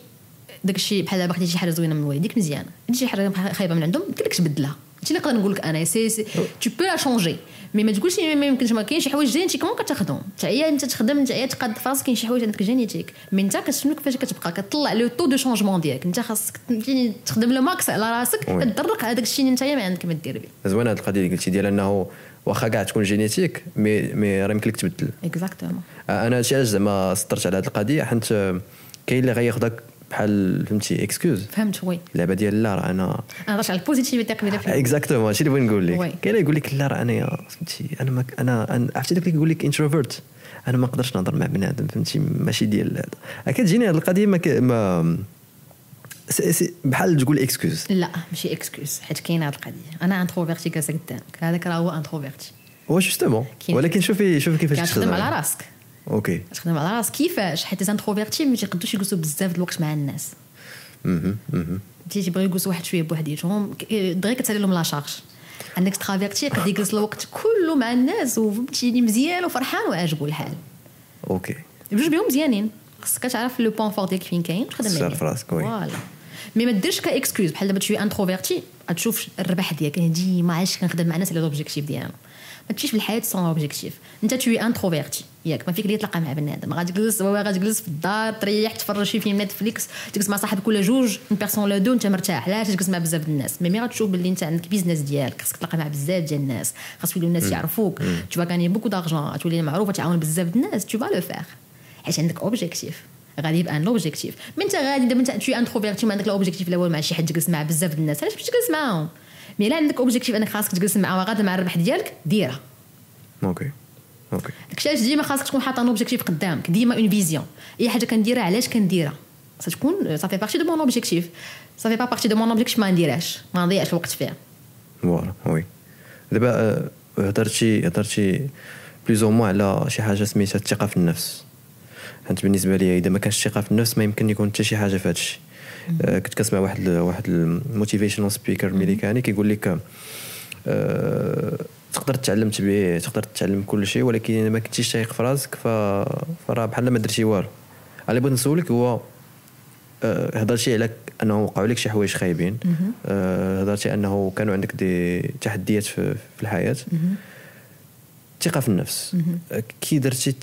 داك الشيء بحال دابا خديتي شي حاجة زوينة من والديك مزيانه، شي حاجة خايبة من عندهم يمكن لك تبدلها. هادشي اللي نقدر نقول لك انا، c'est tu peux la changer، mais ما تقولش ما يمكنش. ما كاين شي حوايج génétiquement كتاخذهم، تعيا انت تخدم، تعيا تقاد في راسك، كاين شي حوايج عندك génétique، mais انت كتشنو كيفاش كتبقى كتطلع le taux de changement ديالك. انت خاصك تخدم le max على راسك، تدرق هذاك الشيء اللي انت ما عندك ما دير به. زوينة هذه القضية اللي قلتي ديال انه واخا كاع تكون génétique mais راه يمكن لك تبدل. exactement. انا هادشي علاش زعما سطرت على هذه القضية، حيت كاين اللي غياخذك بحال فهمتي excuse. فهمت oui، اللعبة ديال لا راه انا هضرت على ال positivité قبيلة. exactement هادشي اللي بغيت نقول لك. كاين اللي يقول لك لا راه انا فهمتي انا ما انا عرفتي داك اللي يقول لك introvert، انا ما نقدرش نهضر مع بنادم، فهمتي ماشي ديال هذا. كتجيني هذه القضية ما بحال تقول excuse. لا ماشي excuse، حيت كاينه هذه القضية. انا introverti جالسة قدامك، هذاك راه هو introverti. هو justement، ولكن شوفي كيفاش تخدم على راسك. OK، تخدم على راسك كيفاش؟ حيت introvertis ما تيقدروش يجلسوا بزاف د الوقت مع الناس. تيبغيو يجلسوا واحد شوية بوحديتهم، دغيا كتسالي لهم la charge. عندك extraverti يقدر يجلس الوقت كله مع الناس وفهمتيني مزيان وفرحان وعاجبو الحال. OK، بجوج بهم مزيانين، خصك تعرف le point fort ديالك فين كاين وتخدم عليه. تعرف راسك. oui voilà. mais ما ديرش ك excuse. بحال دابا tu es introverti غتشوف الربح ديالك. انا ديما علاش كنخدم مع الناس على l'objectif ديالهم. ما تمشيش في الحياة sans objectif. انت tu es introverti ياك، ما فيك اللي تلاقى مع بنادم، غادي تجلس في الدار تريح تفرج شي فيلم Netflix، تجلس مع صاحبك ولا جوج une personne ولا deux، انت مرتاح. علاش تجلس مع بزاف الناس؟ mais ملي غتشوف باللي انت عندك business ديالك خاصك تلاقى مع بزاف ديال الناس، خاص يوليو الناس يعرفوك، tu vas gagner beaucoup d'argent، تولي معروفة تعاون بزاف الناس، tu vas le faire حيت عندك objectif. غادي يبقى un objectif. mais انت غادي دابا انت tu es introverti ما عندك لا objectif لا والو مع شي حد تجلس مع بزاف الناس، علاش باش تجلس معاهم؟ mais لا عندك objectif انك خاصك تجلس معاهم غادا مع الربح ديالك ديرها. okay okay داكشي علاش ديما خاصك تكون حاطه un objectif قدامك، ديما une vision. اي حاجة كنديرها علاش كنديرها، خاصها تكون ça fait partie de mon objectif. ça fait pas partie de mon objectif ما نديرهاش، ما نضيعش الوقت فيها. voilà oui. دابا هضرتي plus ou moins على شي حاجة سميتها الثقة في النفس. حيت بالنسبة لي اذا ما كانش الثقة في النفس ما يمكن يكون حتى شي حاجة في هادشي. كنت كنسمع واحد ال motivational speaker امريكاني كيقول لك تقدر تتعلم تبيع، تقدر تتعلم كل شيء، ولكن اذا ما كنتيش تايق في راسك فراه بحال ما درتي والو. اللي بغيت نسولك هو هضرتي على انه وقعوا لك شي حوايج خايبين، هضرتي انه كانوا عندك des تحديات في الحياة. الثقة في النفس كي درتي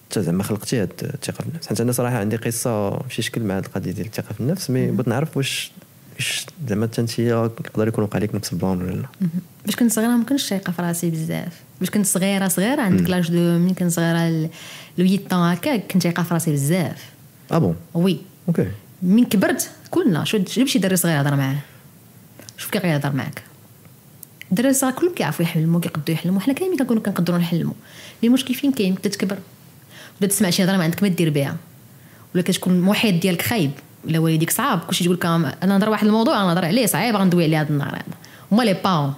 حتى زعما خلقتي هاد الثقة في النفس؟ حيت انا صراحة عندي قصة في شي شكل مع هاد القضية ديال الثقة في النفس، mais بغيت نعرف واش زعما حتى انت يقدر يكون وقع لك نفس ال plan ولا لا. باش كنت صغيرة ما كنتش تايقه في راسي بزاف. باش كنت صغيرة عندك l'âge de ملي كنت صغيرة le 8 هكا كنت تايقه في راسي بزاف. ah bon؟ oui okay. من كبرت كلنا شو جيب شي دري صغير هضر معاه، شوف كي غيهضر معاك. الدراري الصغار كلهم كيعرفوا يحلموا، كيقدروا يحلموا، حنا كاملين كنكونوا كنقدروا نحلموا. mais المشكل فين كاين؟ بدا تكبر بدا تسمع شي هضره ما عندك ما دير بها، ولا كتكون المحيط ديالك خايب، ولا والديك صعاب، كلشي تقول لك انا نهضر واحد الموضوع انا نهضر عليه صعيب غندوي عليه هذا النهار هذا. هما les parents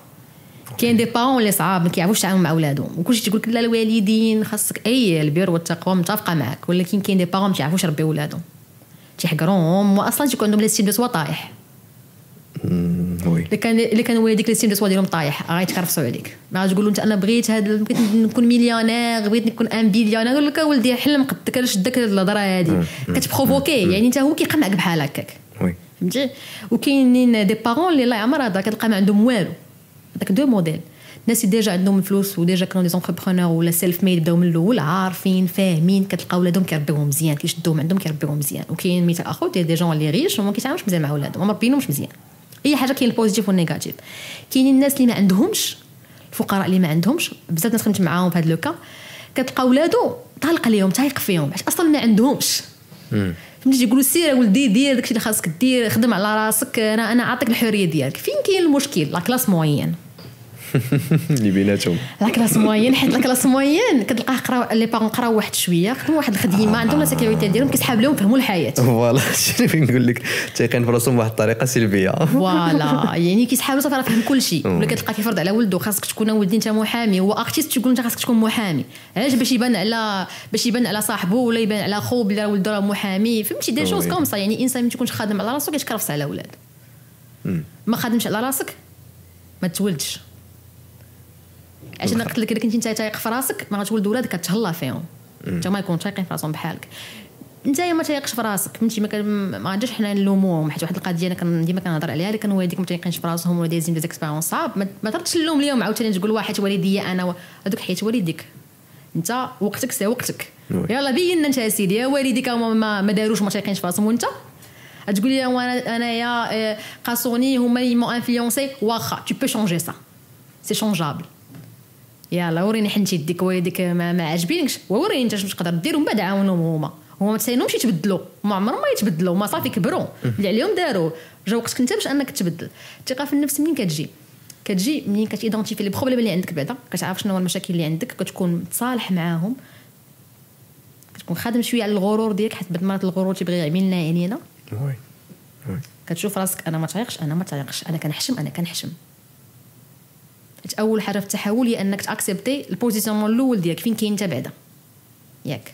كاين des parents اللي صعاب ما كيعرفوش يتعاملوا مع ولادهم، وكلشي تقول لك لا الوالدين خاصك اي البر والتقوى متفقه معاك، ولكن كاين des parents ما تيعرفوش يربيو ولادهم، تيحقروهم، واصلا تيكون عندهم l'estime de soi طايح. oui اللي كان والديك l'estime de soi ديالهم طايح غيتكرفسوا عليك. ما غاتقول له انت انا بغيت هاد، بغيت نكون مليونير، بغيت نكون un billionnaire، يقول لك ولدي حلم قدك، علاش داك الهضرة هادي كت provoquer، يعني انت هو كيقمعك بحال هكاك. oui فهمتي؟ وكاينين des parents اللي الله يعمر هذا كتلقى ما عندهم والو. داك deux modèles، الناس اللي déjà عندهم الفلوس و déjà كانوا des entrepreneurs ولا self-made، بداو من الاول عارفين فاهمين، كتلقى ولادهم كيربيوهم مزيان، كيشدوهم عندهم كيربيوهم مزيان. وكاين مثال اخر ديال des gens اللي riches وما كيتعاملوش مزيان مع ولادهم، ما مربينهمش مزيان. اي حاجة كاين ال positif وال négatif. كاينين الناس اللي ما عندهمش، الفقراء اللي ما عندهمش، بزاف ناس خدمت معاهم في هذا le cas، كتلقى ولادو طالق ليهم تايق فيهم حيت اصلا ما عندهمش. فهمتي؟ تيقولوا سير ولدي دير داكشي اللي خاصك دير، خدم على راسك، انا عاطيك الحرية ديالك. فين كاين المشكل؟ la classe moyenne اللي بيناتهم la classe moyenne، حيت la classe moyenne كتلقاه قراو les parents قراو واحد شوية، خدموا واحد الخدمة، عندهم la sécurité ديالهم، كيسحاب لهم فهموا الحياة. voilà شنو فين نقول لك، تايقين في راسهم بواحد الطريقة سلبية. voilà يعني كيسحاب له صافي راه فهم كل شيء. ولا كتلقى كيفرض على ولده خاصك تكون ولدي انت محامي، هو artiste تقول انت خاصك تكون محامي. علاش؟ باش يبان على باش يبان على صاحبه ولا يبان على خو بلي راه ولده راه محامي. فهمتي؟ des choses comme ça. يعني انسان ما تكونش خادم على راسو كيتكرفس على ولاد. ما خادمش على راسك ما تولدش. عشان انا قلت لك الا كنتي انت تايق في راسك ما غتولد ولادك كتهلا فيهم، انت ما يكونوا تايقين في راسهم بحالك. انت ما تايقش في راسك، فهمتي؟ ما غاديش حنا نلوموهم، حيت واحد القضية انا ديما كنهضر عليها، الا كانوا والديك ما تايقينش في راسهم ولا دايزين des expériences صعاب، ما تردش اللوم ليهم عاوتاني تقول واحد والديا انا هذوك، حيت والديك انت وقتك c'est وقتك. يلا بينا انت يا سيدي يا والديك ما داروش ما تايقينش في راسهم، وانت تقول لي انايا قاسوني هما اللي m'ont influencé. واخا tu peux changer ça، c'est changeable. يلا وريني حنتي يديك والديك ما عاجبينكش، وريني انت شنو تقدر دير، ومن بعد عاونهم هما. هما ما تساينهمش يتبدلوا، ما عمرهم ما يتبدلوا، ما صافي كبروا اللي عليهم داروا، جا وقتك انت باش انك تبدل. الثقة في النفس منين كتجي؟ كتجي منين كت identifier les problèmes اللي عندك بعدا، كتعرف شنو هو المشاكل اللي عندك، كتكون متصالح معاهم، كتكون خادم شوية على الغرور ديالك، حيت بعد مرات الغرور تيبغي يعملنا عينينا. oui oui كتشوف راسك انا ما تايقش، انا ما تايقش، انا كنحشم، انا كنحشم. اول حاجة في التحول هي انك ت accepter ال positionnement الاول ديالك فين كاين انت بعدا، ياك،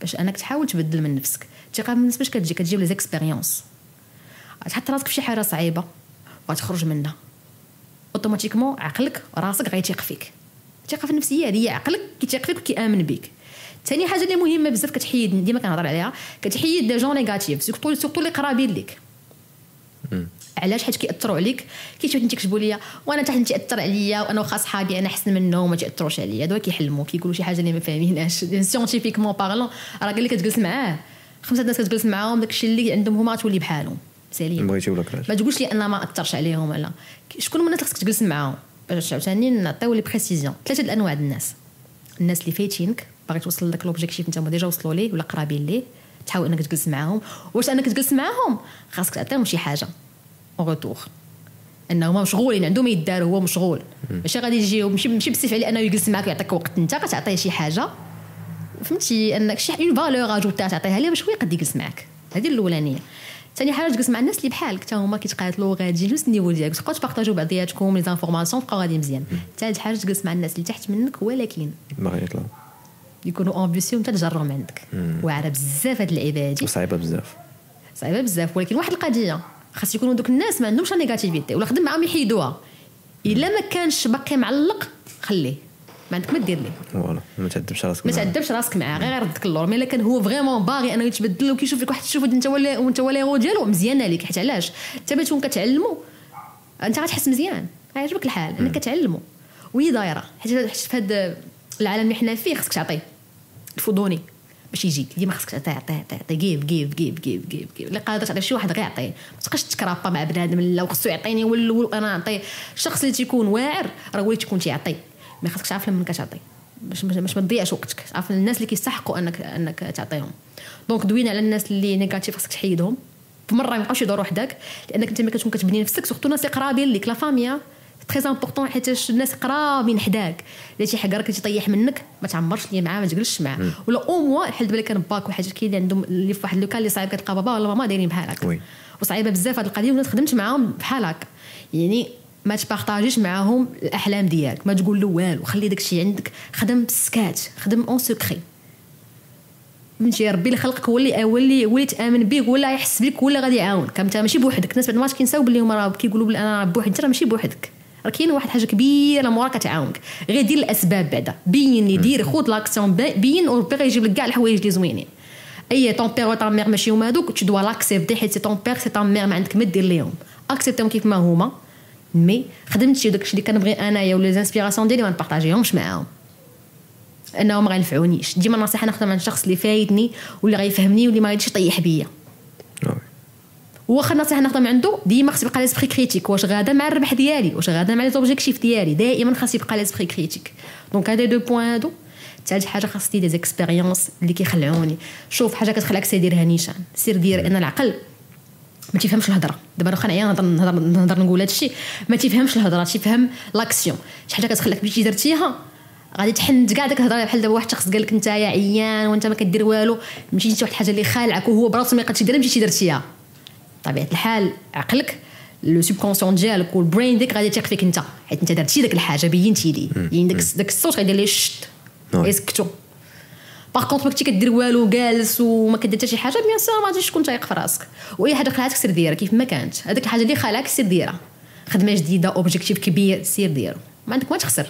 باش انك تحاول تبدل من نفسك. الثقة بالنفس باش كتجي؟ كتجي les expériences. تحط راسك في شي حاجة صعيبة وغتخرج منها automatiquement، عقلك راسك غيتيق فيك. الثقة في النفس هي هذه، عقلك كيتيق فيك وكيامن بك. ثاني حاجة اللي مهمة بزاف كتحيد، ديما كنهضر عليها، كتحيد les gens négatifs، surtout اللي قرابين لك. علاش؟ حيت كيأثروا عليك. كيشوف انت كتبوا لي وانا تحت تاثر عليا، وانا واخا صحابي انا احسن منهم ما تاثروش عليا. هادو كيحلموا، كيقولوا شي حاجة اللي ما فاهمينهاش. scientifiquement parlant راه قال لك كتجلس معاه خمسة الناس كتجلس معاهم داكشي اللي عندهم هما تولي بحالهم. سالين بغيتي ولا كرهتي. ما تقولش لي انا ما اثرش عليهم. لا، شكون من الناس خصك تجلس معاهم باش عاوتاني نعطيو les précisions. ثلاثة الانواع الناس: الناس اللي فايتينك، باغي توصل لك l'objectif انت هما déjà وصلوا ليه ولا قرابين ليه، تحاول انك تجلس معاهم. واش انك تجلس معاهم خاصك تعطيهم شي حاجة en retour، انهم مشغولين عندهم يدار، هو مشغول، ماشي غادي يجي ماشي بالسيف عليه انه يجلس معاك ويعطيك وقت. انت كتعطيه شي حاجه، فهمتي، انك شي une valeur ajoutée تعطيها ليه باش هو يقد يجلس معاك. هذه الاولانيه. ثاني حاجه، تجلس مع الناس اللي بحالك، حتى هما كيتقاتلوا غاديين نفس ال niveau ديالك، تبقاو تبارطاجيو بعضياتكم les informations، تبقاو غادي مزيان. ثالث حاجه، تجلس مع الناس اللي تحت منك ولكن باغي يطلعوا، يكونوا ambitieux وانت تجرهم عندك. واعرة بزاف هاد اللعيبة هادي. وصعيبه بزاف. صعيبة بزاف، ولكن واحد القضيه، خاص يكونوا دوك الناس ما عندهمش négativité، ولا خدم معاهم يحيدوها. الا ما كانش باقي معلق خليه، ما عندك ما دير ليه. voilà، ما تعذبش راسك. ما تعذبش راسك معاه، غير يردك اللور. mais الا كان هو vraiment باغي انه يتبدل وكيشوف لك واحد الشوفه انت ولا وانت ولا هو ديالو، مزيانه ليك. حيت علاش؟ انت باش تكون كتعلمو انت غتحس مزيان، غيعجبك الحال انك كتعلمو وهي دايره. حيت في هذا العالم اللي حنا فيه خصك تعطيه، il faut donner باش يجيك. ديما خصك تعطي عطي عطي عطي، give give give give give give. اللي قادر تعطي شي واحد غير يعطيه، ما تبقاش تكرابا مع بنادم لا وخصو يعطيني هو الاول وانا نعطيه. الشخص اللي تيكون واعر راه هو اللي تيكون تيعطي، mais خاصك تعرف لمن كتعطي باش ما تضيعش وقتك. تعرف الناس اللي كيستحقوا انك تعطيهم. donc دوينا على الناس اللي négatives، خاصك تحيدهم بمرة، ما يبقاوش يدوروا حداك، لانك انت ملي كتكون كتبني نفسك، surtout الناس اللي قرابين ليك، la famille très important، حيت الناس قرابين حداك اللي تيحقرك تيطيح منك ما تعمرش ليا معاه، ما تجلسش معاه. ولا au moins بحال دابا كان باك وحاجه، كاين اللي عندهم اللي في واحد le cas اللي صعيب، كتلقى بابا ولا ماما دايرين بحال هكا، وصعيبه بزاف هذه القضيه، والناس خدمت معاهم بحال هكا. يعني ما تبارطاجيش معاهم الاحلام ديالك، ما تقول له والو، خلي داكشي عندك، خدم بالسكات، خدم en secret. فهمتي؟ ربي اللي خلقك هو اللي تامن به، هو اللي يحس بك، هو اللي غادي يعاونك. انت ماشي بوحدك. الناس بعد ما كينساو باللي هما راه كيقولوا بلي انا بوحدي، انت راه ماشي بوحدك، راه كاين واحد حاجة كبيرة موراك كتعاونك. غير دير الاسباب بعدا، بين لي دير، خذ l'action، بين، وربي غيجيب لك كاع الحوايج اللي زوينين. اي ton père و ta mère ماشي هما هذوك، tu dois l'accepter، حيت c'est ton père، c'est ta mère، ما عندك ما دير ليهم، accepte هم كيف ما هما. mais خدمتي وداكشي اللي كنبغي انايا ولا les inspirations ديالي ما نبارطاجيهمش معاهم، انهم ما غينفعونيش. ديما النصيحة ناخذها من الشخص اللي فايتني واللي غيفهمني واللي ما غاديش يطيح بيا. واخا النصيحة ناخذها من عنده، ديما خص يبقى l'esprit critique، واش غادا مع الربح ديالي، واش غادا مع les objectifs ديالي. دائما خاص يبقى l'esprit critique. donc هذا deux points هادو. ثالث حاجه، خاصني des expériences اللي كيخلعوني. شوف حاجة كتخلعك سير ديرها نيشان، سير دير. ان العقل ما تيفهمش الهضره. دابا واخا نعيا نهضر نهضر نهضر نقول هادشي، ما تيفهمش الهضره، تيفهم l'action. شي حاجة كتخلعك مشيتي درتيها غادي تحند كاع داك الهضره. بحال دابا واحد الشخص قال لك انت يا عيان وانت ما كدير والو، مشيتي واحد الحاجة اللي خالعك وهو براسو ما يقدرش يديرها، مشيتي درتيها. طبيعة الحال عقلك، le subconscient ديالك وال brain ديك غادي يثيق فيك انت، حيت انت درتي داك الحاجه، بينتي ليه. يعني داك الصوت غيدير ليه chut، يسكتو. par contre ما كنتي كدير والو، جالس وما كدير حتى شي حاجه، bien sûr ما غاديش تكون تايق في راسك. واي حاجة خلعتك سير ديرها كيف ما كانت. هذيك الحاجة اللي خلعك سير ديرها، خدمة جديده، objectif كبير، سير ديرو، ما عندك ما تخسر،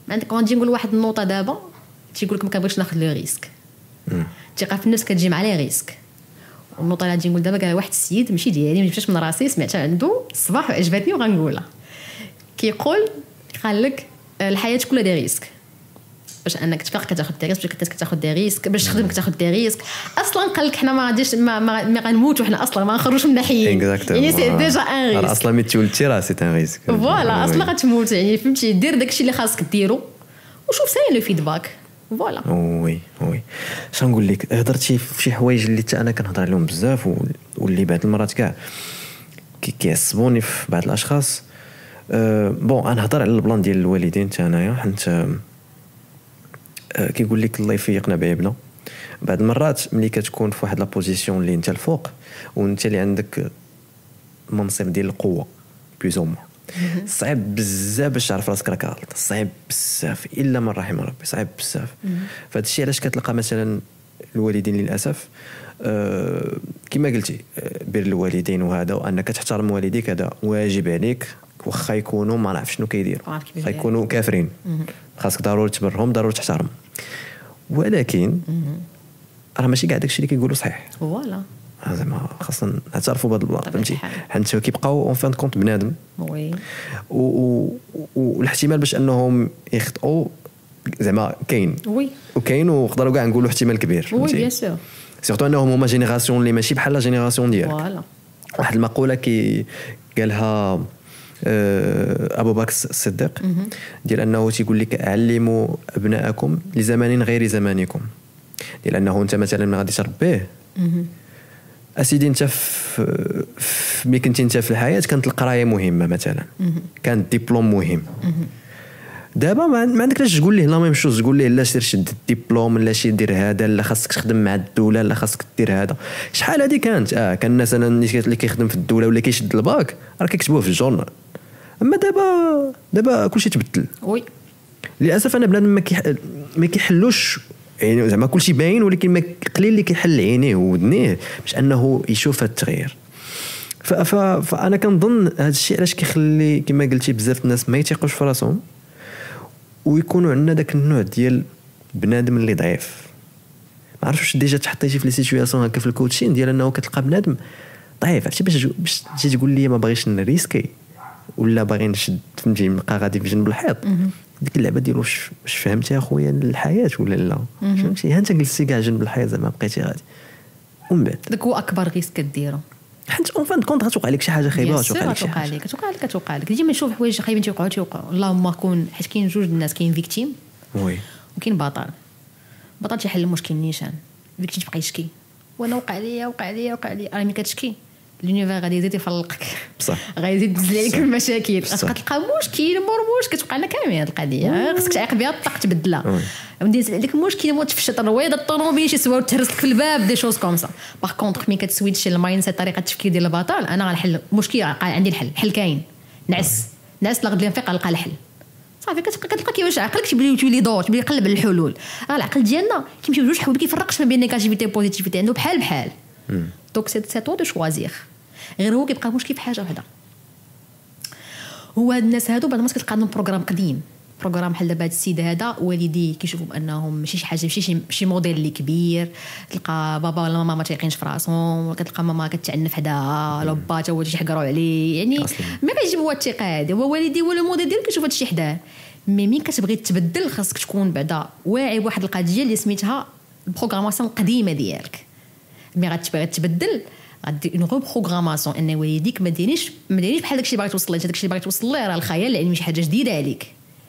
ما عندك. غادي نقول واحد النوطه، دابا تيقول لك ما كنبغيش ناخذ le risque. الثقة في النفس كتجي مع les risques. والنوطه اللي غادي نقول دابا قال واحد السيد، ماشي ديالي، ما جبتش من راسي، سمعتها عنده الصباح وعجبتني وغنقولها. كيقول، قال لك الحياة كلها des risques. باش انك تفيق كتاخذ des risques، باش كتاخذ des risques، باش تخدم كتاخذ des risques. اصلا قال لك حنا ما غاديش ما غنموتوا حنا اصلا ما نخرجوش من حيين، يعني c'est déjà un risque. اصلا ملي تولدتي راه c'est un risque. voilà، اصلا غتموت. يعني فهمتي، دير داكشي اللي خاصك ديرو وشوف ساين le feedback، voilà. oui، اش نقول لك، هضرتي في شي حوايج اللي حتى انا كنهضر عليهم بزاف واللي بعض المرات كاع كيعصبوني في بعض الاشخاص. Bon، انا نهضر على ال plan ديال الوالدين حتى انايا، حيت كيقول لك الله يفيقنا بعيبنا. بعض المرات ملي كتكون في واحد la position اللي انت الفوق وانت اللي عندك منصب ديال القوة plus ou moins، صعيب بزاف باش تعرف راسك راك غلط، صعيب بزاف الا من رحم ربي، صعيب بزاف. فهاد الشيء علاش كتلقى مثلا الوالدين للاسف، كما قلتي، بر الوالدين وهذا وانك تحترم والديك هذا واجب عليك، واخا يكونوا ما نعرف شنو كيديروا، واخا يكونوا كافرين، خاصك ضروري تبرهم، ضروري تحترم. ولكن راه ماشي كاع داكشي اللي كيقولوا صحيح. voilà. زعما خاصنا نعترفوا بهذا ال plan، فهمتي؟ حيت كيبقاو en fin de compte بنادم، oui، والاحتمال باش انهم يخطئوا زعما كاين، oui، وكاين، ونقدروا كاع نقولوا احتمال كبير، oui bien sûr، surtout انهم هما génération اللي ماشي بحال la génération ديالك. voilà. واحد المقولة كي قالها ابو بكر الصديق ديال انه تيقول لك علموا ابناءكم لزمان غير زمانكم، ديال انه انت مثلا ما غادي تربيه اسيدي انت في ملي كنتي انت في الحياة كانت القراية مهمة مثلا، كان الدبلوم مهم. دابا ما عندك لاش تقول ليه la même chose، تقول ليه لا سير شد الدبلوم، لا شي دير هذا، لا خاصك تخدم مع الدولة، لا خاصك دير هذا. شحال هذه كانت كان الناس اللي كيخدم في الدولة ولا كيشد الباك راه كيكتبوه في ال journal. اما دابا كلشي تبدل. oui للاسف انا بنادم ما كيحلوش، يعني زعما كلشي باين، ولكن ما قليل اللي كيحل عينيه وودنيه باش انه يشوف هذا التغيير. فانا كنظن هذا الشيء علاش كيخلي كما قلتي بزاف الناس ما يثيقوش في راسهم، ويكونوا عندنا داك النوع ديال بنادم اللي ضعيف. ما عرفتش واش déjà تحطيتي في les situations هكا في ال coaching ديال انه كتلقى بنادم ضعيف، عرفتي باش تجي تقول لي ما باغيش نريسكي ولا باغي نشد، فهمتي، نبقى غادي في جنب الحيط. ديك اللعبة ديال واش فهمتي اخويا الحياة ولا لا، فهمتي؟ ها انت جلستي كاع جنب الحيط زعما بقيتي غادي، ومن بعد داك هو اكبر risque كديرو، حيت en fin de compte غتوقع لك شي حاجة خايبة، غتوقع لك شي حاجة، كتوقع لك ديما نشوف حوايج خايبين تيوقعوا. اللهم كون، حيت كاين جوج الناس، كاين victime oui وكاين بطل. بطل تيحل المشكل نيشان، victime تبقى يشكي وانا وقع ليا وقع ليا وقع ليا. راه ملي كتشكي l'univers غادي يزيد يفلقك، بصح غادي يزيد تنزل عليك المشاكل، غتبقى تلقى مشكل مور مشكل، كتوقع لنا كامل هاد القضية، خصك تعيق بها الطاق تبدلها. غادي ينزل عليك مشكل مور تفشط الرويضه الطوموبيل شي سوا تهرس لك في الباب، des choses comme ça. par contre ملي كتسويتشي ال mindset، طريقه التفكير ديال البطل، انا غنحل مشكل، عندي الحل، الحل كاين، نعس نعس لا غد نفيق غنلقى الحل. صافي كتلقى كيفاش عقلك تولي يدور، تولي يقلب على الحلول. راه العقل ديالنا كيمشي بجوج حوايج، ما كيفرقش ما بين négativité و positivité، عنده بحال بحال. donc c'est à toi de choisir. غير هو كيبقى مشكل في حاجة وحده، هو هاد الناس هادو بعد ما كتلقى عندهم programme قديم، programme بحال دابا هاد السيد هذا والديه كيشوفوا بانهم ماشي شي حاجة، ماشي شي موديل اللي كبير، تلقى بابا ولا ماما ما تيقينش في راسهم، كتلقى ماما كتعنف حداها، ولا با تا هو تيحقروا عليه، يعني ما كيجيب هو الثقة هادي، هو والديه هو الموديل ديالو كيشوف هادشي حداه. mais مين كتبغي تبدل خاصك تكون بعدا واعي بواحد القضية اللي سميتها ال programmation القديمة ديالك. mais غتبغي تبدل غدير une reprogrammation، ان والديك ما ديريش بحال داكشي اللي باغي توصل ليه. داكشي اللي باغي توصل ليه راه الخيال العلمي، شي حاجة جديدة عليك،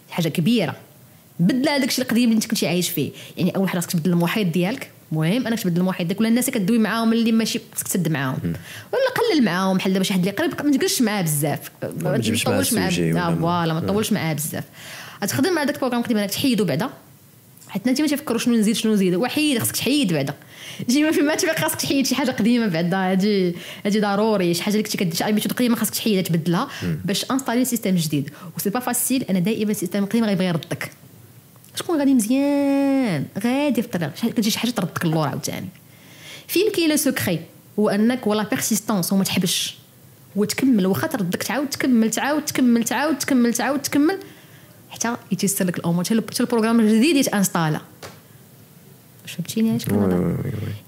حاجة كبيرة. بدل هذاك الشيء القديم اللي انت كنتي عايش فيه. يعني اول حاجة خاصك تبدل المحيط ديالك، مهم انك تبدل المحيط ديالك، ولا الناس اللي كدوي معاهم اللي ماشي خاصك تسد معاهم ولا قلل معاهم. بحال دابا شي حد اللي قريب ما تجلسش معاه بزاف، ما تطولش معاه، voilà ما تطولش معاه بزاف. غتخدم مع داك ال programme القديم انك تحيدو بعدا، حيت انت ما تفكروا شنو نزيد شنو نزيد، وحيد خاصك تحيد بعدا. ديما فيما تبقى خاصك تحيد شي حاجة قديمة بعدا، هادي ضروري. شي حاجة اللي كنتي كدير شي habitude قديمة خاصك تحيدها تبدلها باش installer système جديد. و c'est pas facile، انا دائما ال système القديم غيبغي يردك، شكون غادي مزيان غادي في الطريق، كتجي شي حاجة تردك اللور عاوتاني. فين كاين le secret هو انك ولا persistance، وما تحبش وتكمل، واخا تردك تعاود تكمل تعاود تكمل تعاود تكمل تعاود تكمل حتى يتيسر لك الامور، حتى ال programme الجديد يتانستالا. فهمتيني علاش كنهضر؟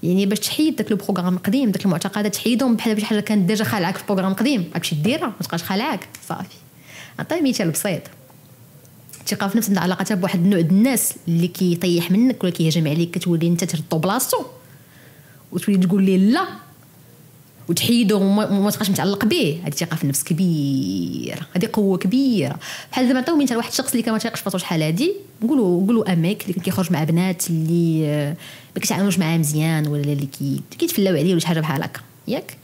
يعني باش تحيد داك le programme القديم، داك المعتقدات تحيدهم، بحال شي حاجة كانت déjà خالعاك في programme قديم غتمشي ديرها ما تبقاش خالعاك. صافي عطية مثال بسيط، الثقة في النفس عندها علاقتها بواحد النوع د الناس اللي كيطيح منك ولا كيهجم عليك، كتولي انت تردو بلاصتو وتولي تقول ليه لا وتحيدو وما تبقاش متعلق به. هذه ثقة في النفس كبيرة، هذه قوة كبيرة. بحال دابا نعطيو مثال واحد الشخص اللي كان ما تيقش فراسو شحال هادي، نقولوا un mec اللي كان كيخرج مع بنات اللي ما كيتعاملوش معاه مزيان ولا اللي كيتفلاو عليه ولا شي حاجة بحال هكا، ياك؟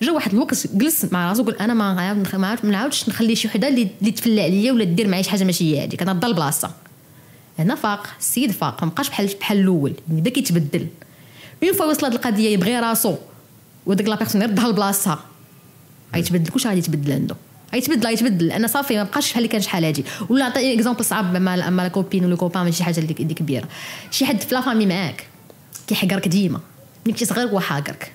جا واحد الوقت جلس مع راسو قال انا ما نعاودش نخلي شي وحده اللي تفلى عليا ولا دير معايا شي حاجة ماشي هي هذيك، انا نضل بلاصة. هنا فاق السيد، فاق، ما بقاش بحال الاول، بدا كيتبدل. une fois وصل هاد القضية يبغي راسو وديك la personne يردها لبلاصتها، غيتبدل كلشي، غادي يتبدل عنده، غيتبدل انا صافي ما بقاش بحال اللي كان شحال هادي. ولا عطي exemple صعب مع la copine ولا copain، ماشي شي حاجة اللي كبيرة، شي حد في la famille معاك كيحقرك ديما ملي كنتي صغير هو حاقرك،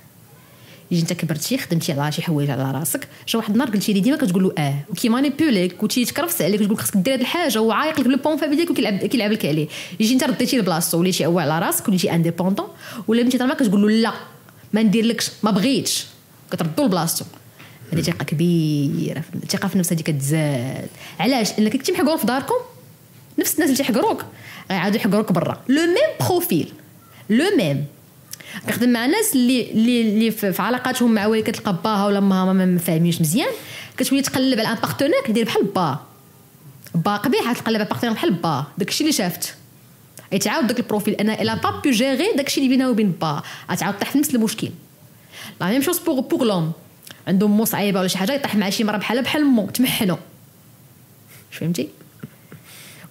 يجي انت كبرتي خدمتي على شي حوايج على راسك، جا واحد النهار قلتي لي ديما كتقول له وكي مانيبيوليك وتيتكرفس عليك وتقول خصك دير هاد الحاجة وعايق لك le point faible ديالك وكيلعب لك عليه، يجي انت رديتي لبلاصتو وليتي عوال على راسك وليتي indépendant، ولا ملي تما كتقول له لا ما نديرلكش، ما بغيتش، كتردو لبلاصتو. هذه ثقة كبيرة، الثقة في النفس هذه كتزاد. علاش؟ لانك كنتي محقور في داركم، نفس الناس اللي تيحقروك غيعاودوا يحقروك برا، le même profil، le même. كنخدم مع ناس اللي في علاقاتهم مع والديك كتلقى باها ولا ماها ما فاهمينش مزيان، كتولي تقلب على un partenaire كدير بحال با قبيح، تقلب على partenaire بحال با، داكشي اللي شافت يتعاود داك ال profil. انا elle a pas pu gérer داكشي اللي بينها وبين با، غتعاود طيح في نفس المشكل. la même chose pour l'homme، عنده مو صعيبة ولا شي حاجة يطيح مع شي مرة بحال مو تمحنو، فهمتي؟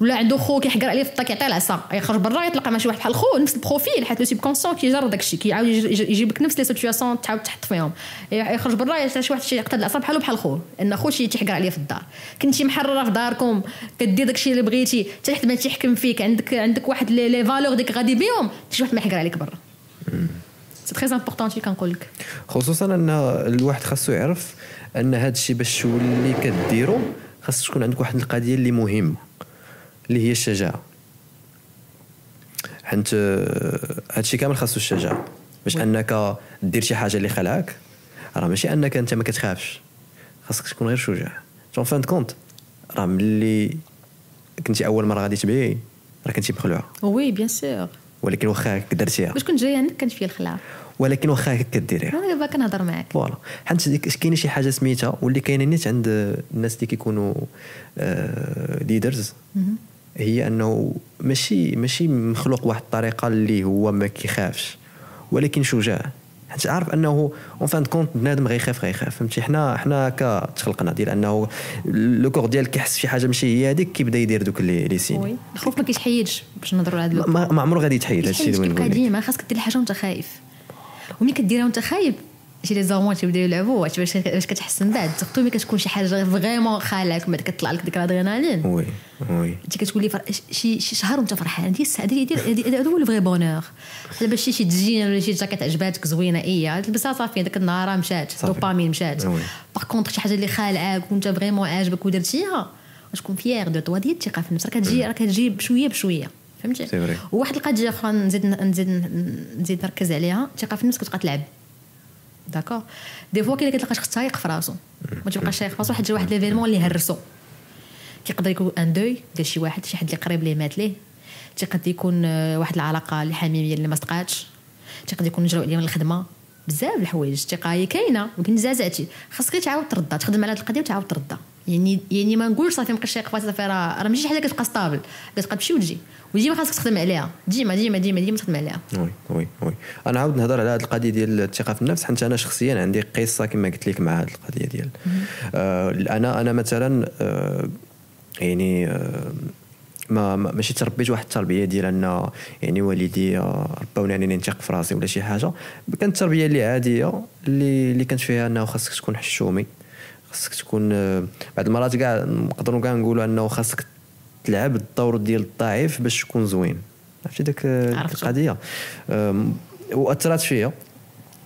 ولا عنده خو كيحقر عليه في الطا كيعطيه العصا، يخرج برا يتلاقى مع شي واحد بحال خو نفس ال profil، حيت le subconscient كيجر داكشي، كيعاود يجيب لك نفس les situations تعاود تحط فيهم. يخرج برا يلقى شي واحد يقتل العصا بحالو بحال خو، ان خو شي تيحقر عليه في الدار. كنتي محرره في داركم كدير داكشي اللي بغيتي، حتى حد ما تيحكم فيك، عندك واحد les valeurs ديك غادي بيهم، حتى شي واحد ما يحقر عليك برا. c'est très important شي كنقول لك، خصوصا ان الواحد خاصو يعرف ان هذا الشيء باش تولي كديرو خاص تكون عندك واحد القضية اللي مهمة اللي هي الشجاعة، حيت هادشي كامل خاصو الشجاعة باش انك دير شي حاجة اللي خلعك. راه ماشي انك انت ما كتخافش، خاصك تكون غير شجاع. en fin de compte راه ملي كنتي اول مرة غادي تبيعي راه كنتي مخلوعه، oui bien sûr، ولكن واخا هكا درتيها. باش كنت جاية عندك كانت فيا الخلعة، ولكن واخا هكا كديريها. انا دابا كنهضر معاك voilà، حيت كاينه شي حاجة سميتها واللي كاينه نيت عند الناس اللي كيكونوا leaders، هي انه ماشي مخلوق واحد الطريقة اللي هو ما كيخافش ولكن شجاع، حيت عارف انه en fin de compte بنادم غيخاف، فهمتي؟ حنا كتخلقنا ديال انه le corps ديالك كيحس شي حاجة ماشي هي هذيك كيبدا يدير دوك les signes. الخوف ما كيتحيدش باش نهضروا على هذا، ما عمره غادي يتحيد. هادشي اللي بغيت نقول ديما خاصك دير الحاجة وانت خايف، وملي كديرها وانت خايف شي les hormones تيبداو يلعبوا باش كتحس من بعد، surtout ملي كتكون شي حاجة vraiment خالعك من بعد كتطلع لك ديك الادرينالين. oui oui، انت كتولي شي شهر وانت فرحان، هذه السعادة هذا هو ال vrai bonheur. دابا شي تجين ولا شي جاكيت عجباتك زوينة ايه تلبسها صافي، داك النهار مشات دوبامين مشات. par contre شي حاجة اللي خالعاك وانت vraiment عاجبك ودرتيها تكون fier de toi، ديال الثقة في النفس راه كتجي بشوية بشوية، فهمتي؟ وواحد القضية اخرى نزيد نركز عليها، الثقة في النفس كتبقى تلعب. d'accord des fois كاين اللي كتلقى شخص تايق في راسو ما تبقاش تايق في راسو، حيت واحد l'événement اللي هرسو، كيقدر يكون un deuil ديال شي واحد، شي حد اللي قريب ليه مات ليه، تيقدر يكون واحد العلاقة اللي حميمية اللي ما صدقاتش، تيقدر يكون جراو عليه من الخدمة، بزاف الحوايج. الثقة هي كاينه ولكن زعزعتي، خاصك غير تعاود تردها، تخدم على هذه القضية وتعاود تردها. يعني ما نقولش صافي مابقيتش تايق في راسي صافي، راه ماشي شي حاجة كتبقى stable، كتبقى تمشي وتجي وديما خاصك تخدم عليها، ديما ديما ديما ديما تخدم عليها. oui oui oui، انا عاود نهضر على هذه القضية ديال الثقة في النفس، حيت انا شخصيا عندي قصة كما قلت لك مع هذه القضية ديال انا مثلا يعني ما ماشي تربيت واحد التربية ديال ان يعني والدي ربوني انني نثق في راسي ولا شي حاجة. كانت التربية اللي عادية اللي كانت فيها انه خاصك تكون حشومي، خاصك تكون بعض المرات كاع نقدروا كاع نقولوا انه خاصك تلعب الدور ديال الضعيف باش تكون زوين، عرفتي داك القضية. واثرت فيا،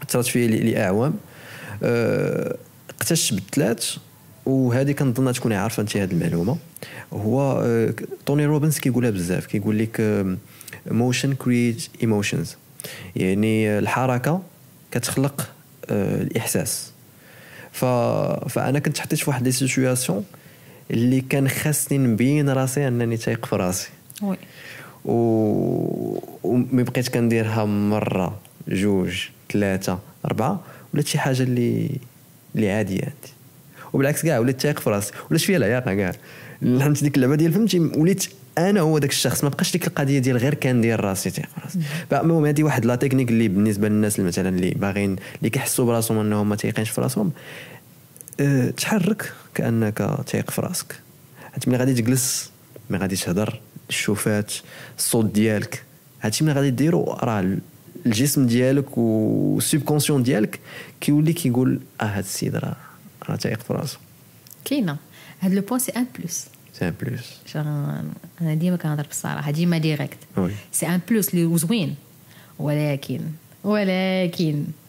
اثرت فيا لاعوام. اقتشت بالثلاث، وهذه كنظن تكوني عارفه انت هذه المعلومة. هو توني روبنز كيقولها بزاف، كيقول لك motion create emotions، يعني الحركة كتخلق الاحساس. فانا كنت حطيت في واحد les situations اللي كان خاصني نبين راسي انني تايق في راسي. oui. ومي بقيت كنديرها مرة جوج ثلاثة اربعة، ولات شي حاجة اللي عادية عندي، وبالعكس كاع وليت تايق في راسي، ولات فيا العياقه كاع. فهمت ديك اللعبة ديال فهمتي، وليت انا هو داك الشخص، ما بقاش ديك القضية ديال غير كندير راسي تايق في راسي. فالمهم هذه واحد la technique اللي بالنسبة للناس اللي مثلا اللي باغيين اللي كيحسوا براسهم انهم ما تايقينش في راسهم، تحرك كانك تايق في راسك. حيت ملي غادي تجلس، ملي غادي تهضر، الشوفات، الصوت ديالك، هادشي ملي غادي ديرو راه الجسم ديالك وال subconscient ديالك كيولي كيقول هاد السيد راه تايق في راسو. كاينه هاد le point، c'est un plus، c'est un plus. انا ديما كنهضر بالصراحه، ديما direct. c'est un plus اللي زوين، ولكن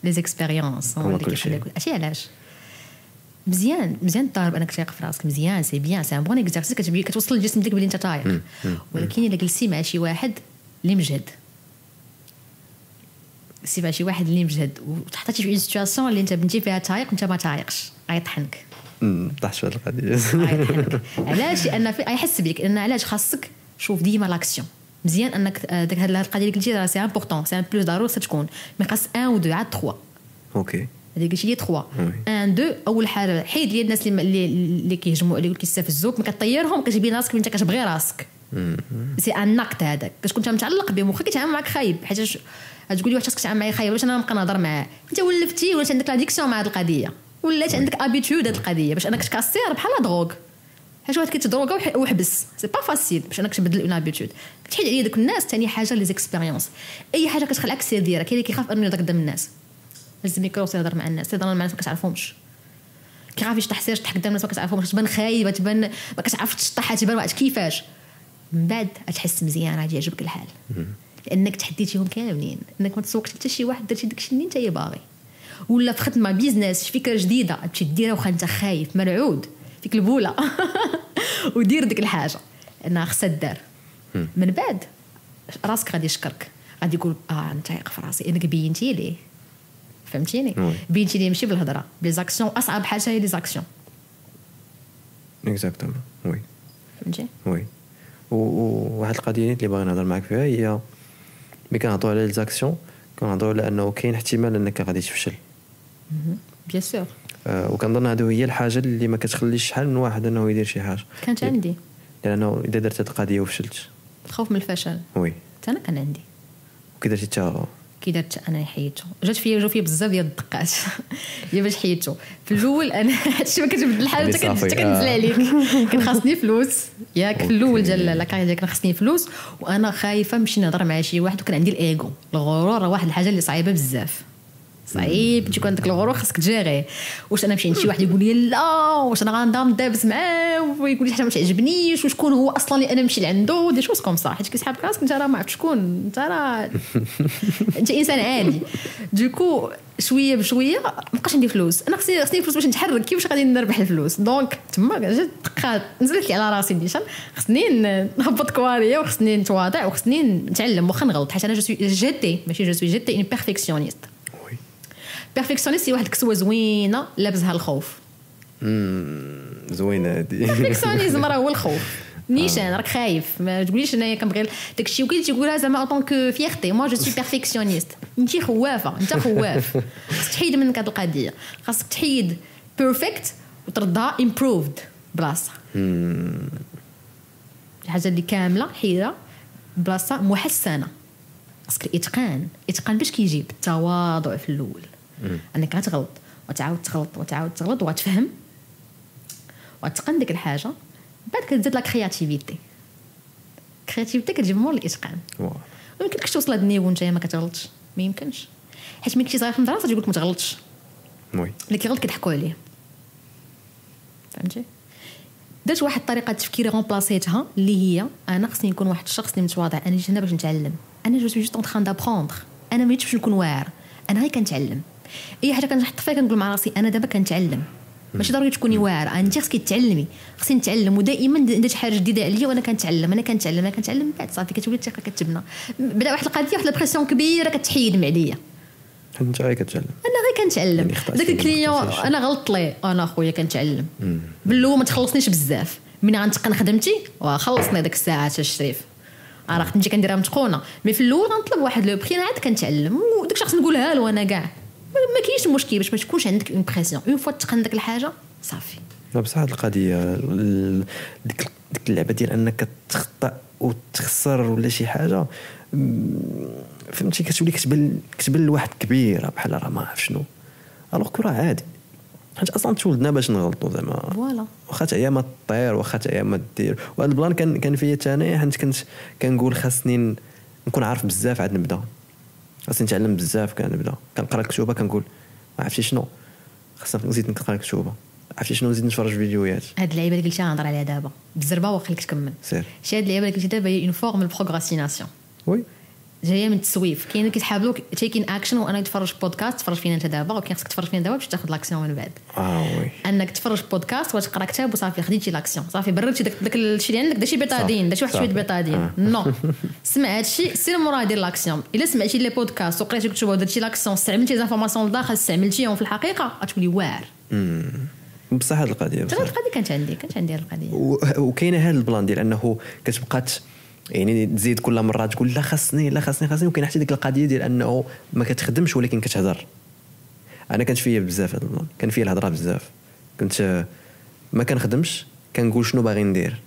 les expériences هما اللي كيخليك. عرفتي علاش مزيان مزيان تضارب انك تايق في راسك، مزيان c'est bien، c'est un bon exercice، كتوصل للجسم ديالك بلي انت تايق. ولكن الا جلستي مع شي واحد اللي مجهد، سي شي واحد اللي مجهد وتحطيتي في une situation اللي انت بنتي فيها تايق انت ما تايقش، غيطحنك. طاحت في هذه القضية. غيطحنك. علاش؟ لان غيحس بك. لان علاش خاصك شوف ديما l'action. مزيان انك داك هاد القضية اللي قلتي راه c'est important، c'est un plus ضروري خصها تكون، mais خاص 1 و 2 عاد 3. OK هذيك قلتي لي 3 1 2. اول حاجة حيد لي الناس اللي كيهجموا عليك وكيستفزوك، ما كطيرهم، كتبين راسك انت كتبغي راسك. c'est un acte هذاك، كتكون انت متعلق بهم واخا كيتعامل معاك خايب. حيت تقول لي واحد الشخص كيتعامل معايا خايب، باش انا نبقى نهضر معاه؟ انت ولفتي، ولات عندك l'addiction مع هذه القضية، ولات عندك habitude هذه القضية باش انك تكاسير بحال drogue. حيت واحد كيتدروغا وحبس، c'est pas facile باش انك تبدل une habitude. كتحيد عليا دوك الناس. ثاني حاجة les expériences، اي حاجة كتخلعك سير ديرها. كاين اللي كيخاف انه يهضر قدام الناس، هز الميكرو يهضر مع الناس، يهضر مع الناس ما كتعرفهمش، كيخاف يشطح، سير شطح قدام الناس ما كتعرفهمش، تبان خايبة، تبان ما كتعرفش تشطح، تبان واحد كيفاش. من بعد تحس مزيان، غادي يعجبك الحال لانك تحديتيهم كاملين، انك ما تسوقش حتى شي واحد، درتي داكشي اللي انت باغي. ولا في خدمة business، فكرة جديدة تمشي ديرها واخا انت خايف مرعود فيك البوله ودير ديك الحاجة لانها خصها دار. من بعد راسك غادي يشكرك، غادي يقول انت تايق في راسي انك بينتي ليه. فهمتيني؟ بينتي ليه ماشي بالهضره، les actions. اصعب حاجة هي les actions. exactement oui. فهمتي؟ oui. وواحد القضية اللي باغي نهضر معاك فيها هي ملي كنهضروا على les actions كنهضروا على انه كاين احتمال انك غادي تفشل. bien sûr. وكنظن هذه هي الحاجة اللي ما كتخليش شحال من واحد انه يدير شي حاجة. كانت عندي، لانه اذا درت هذه القضية وفشلت، الخوف من الفشل. oui حتى انا كان عندي. وكي درتي تا؟ كي درت انا حيدته، جات فيا جاو فيا بزاف ديال الدقات هي باش حيدته. في الاول انا هادشي ما كتبدل الحال حتى كنزل عليك. كان خاصني فلوس ياك في الاول ديال la carrière ديالك، كان خاصني فلوس وانا خايفة نمشي نهضر مع شي واحد، وكان عندي الايغو. الغرور راه واحد الحاجة اللي صعيبة بزاف، صعيب تيكون عندك الغرور خاصك تجيري. واش انا نمشي عند شي واحد يقول لي لا، واش انا غنبدا ندابز معاه ويقول لي حاجة ما تعجبنيش، وشكون هو اصلا اللي انا نمشي لعندو، des choses comme ça. حيت كيسحاب راسك انت راه ما عرفت شكون انت، راه انت انسان عادي. du coup شوية بشوية ما بقاش عندي فلوس، انا خصني فلوس باش نتحرك، كيفاش غادي نربح الفلوس؟ donc تما جات دقات نزلت لي على راسي نيشان، خصني نهبط كواريه وخصني نتواضع وخصني نتعلم واخا نغلط، حيت انا je suis j'étais ماشي je suis j'étais une perfectionniste. perfectionniste هي واحد الكسوة زوينة لابسها الخوف. زوينة هادي. perfectionnisme راه هو الخوف نيشان، راك خايف. ما تقوليش انايا كنبغي داكشي، وكاين تيقولها زعما en tant que fierté، moi je suis perfectionniste. انت خوافه، انت خواف، خاصك تحيد منك هاد القضية، خاصك تحيد perfect وتردها improved بلاصة. الحاجة اللي كاملة حيدها بلاصة محسنة. خاصك الاتقان، الاتقان باش كيجي بالتواضع في الاول، انك غتغلط وتعاود تغلط وتعاود تغلط وغتفهم وتقن ديك الحاجة. بعد كتزيد la créativité، créativité كتجي مور الاتقان. ما يمكنلكش توصل لهاد ال niveau وانت ما كتغلطش، ما يمكنش. حيت ملي كنتي صغير في المدرسة تيقول لك ما تغلطش، oui اللي كيغلط كيضحكوا عليه، فهمتي؟ درت واحد الطريقة تفكير رومبلاسيتها اللي هي انا خصني نكون واحد الشخص اللي متواضع. انا جيت هنا باش نتعلم، انا je suis juste en train d'apprendre، انا ما جيتش باش نكون واعر، انا غير كنتعلم. اي حاجة كنحط فيها كنقول مع راسي انا دابا كنتعلم، ماشي ضروري تكوني واعرة، انت خصك تعلمي، خصني نتعلم. ودائما درت حاجة جديدة عليا وانا كنتعلم، انا كنتعلم، انا كنتعلم. بعد صافي كتولي الثقة كتبنى. بدا واحد القضية، واحد la pression كبيرة كتحيد من عليا. انت غير كتعلم، انا غير كنتعلم. داك ال client انا غلطت ليه، انا خويا كنتعلم. بالاول ما تخلصنيش بزاف، من غنتقن خدمتي وخلصني ديك الساعة الشريف، راه خدمتي كنديرها متقونه. mais في الاول غنطلب واحد le prix عاد كنتعلم، وداك الشخص نقولها له انا كاع ما كاينش مشكل، باش ما تكونش عندك une pression. une fois تقن داك الحاجة صافي. لا بصح هاد القضية ديك اللعبة ديال انك تخطا وتخسر ولا شي حاجة، فهمتي، كتولي كتبان لواحد كبيرة بحال راه ما عرف شنو، alors que راه عادي، حيت اصلا تولدنا باش نغلطوا زعما. voilà واخا تعيا ما طير، واخا تعيا ما دير. وهذا ال plan كان فيا حتى حيت كنت كنقول خاصني نكون عارف بزاف عاد نبدا، خاصني نتعلم بزاف كنبدا كنقرا الكتوبه كنقول ما عرفتي شنو خاصني نزيد نقرا الكتوبه، عرفتي شنو نزيد نتفرج فيديوهات. هاد اللعيبة اللي قلتي غنهضر عليها دابا بالزربه وخليك تكمل. سير. شي هاد اللعيبة اللي قلتي دابا هي une forme ال procrastination. oui. جاية من التسويف. كاين اللي كيسحاب لك taking action وانا نتفرج بودكاست، تفرج فينا انت دابا، ولكن خصك تفرج فينا دابا باش تاخذ l'action من بعد. Oui انك تفرج بودكاست وتقرا كتاب وصافي خديتي l'action، صافي بردتي داك الشيء اللي عندك، داكشي bétadine، داكشي واحد شوية bétadine. Non، سمع هادشي سير مورا دير l'action. الا سمعتي les podcasts وقريتي كتب ودرتي l'action، استعملتي les informations لداخل، استعملتيهم في الحقيقة، غتولي واعر. بصح هاد القضية بصح القضية كانت عندي هاد القضية. وكاينه هاد ال plan ديال انه كتبقى يعني تزيد كل مرة تقول لا خاصني لا خاصني خاصني. وكاين حتى ديك القضية ديال انه ما كتخدمش ولكن كتهضر. انا كانت فيا بزاف هاد ال plan، كان فيا الهضرة بزاف، كنت ما كنخدمش كنقول شنو باغي ندير،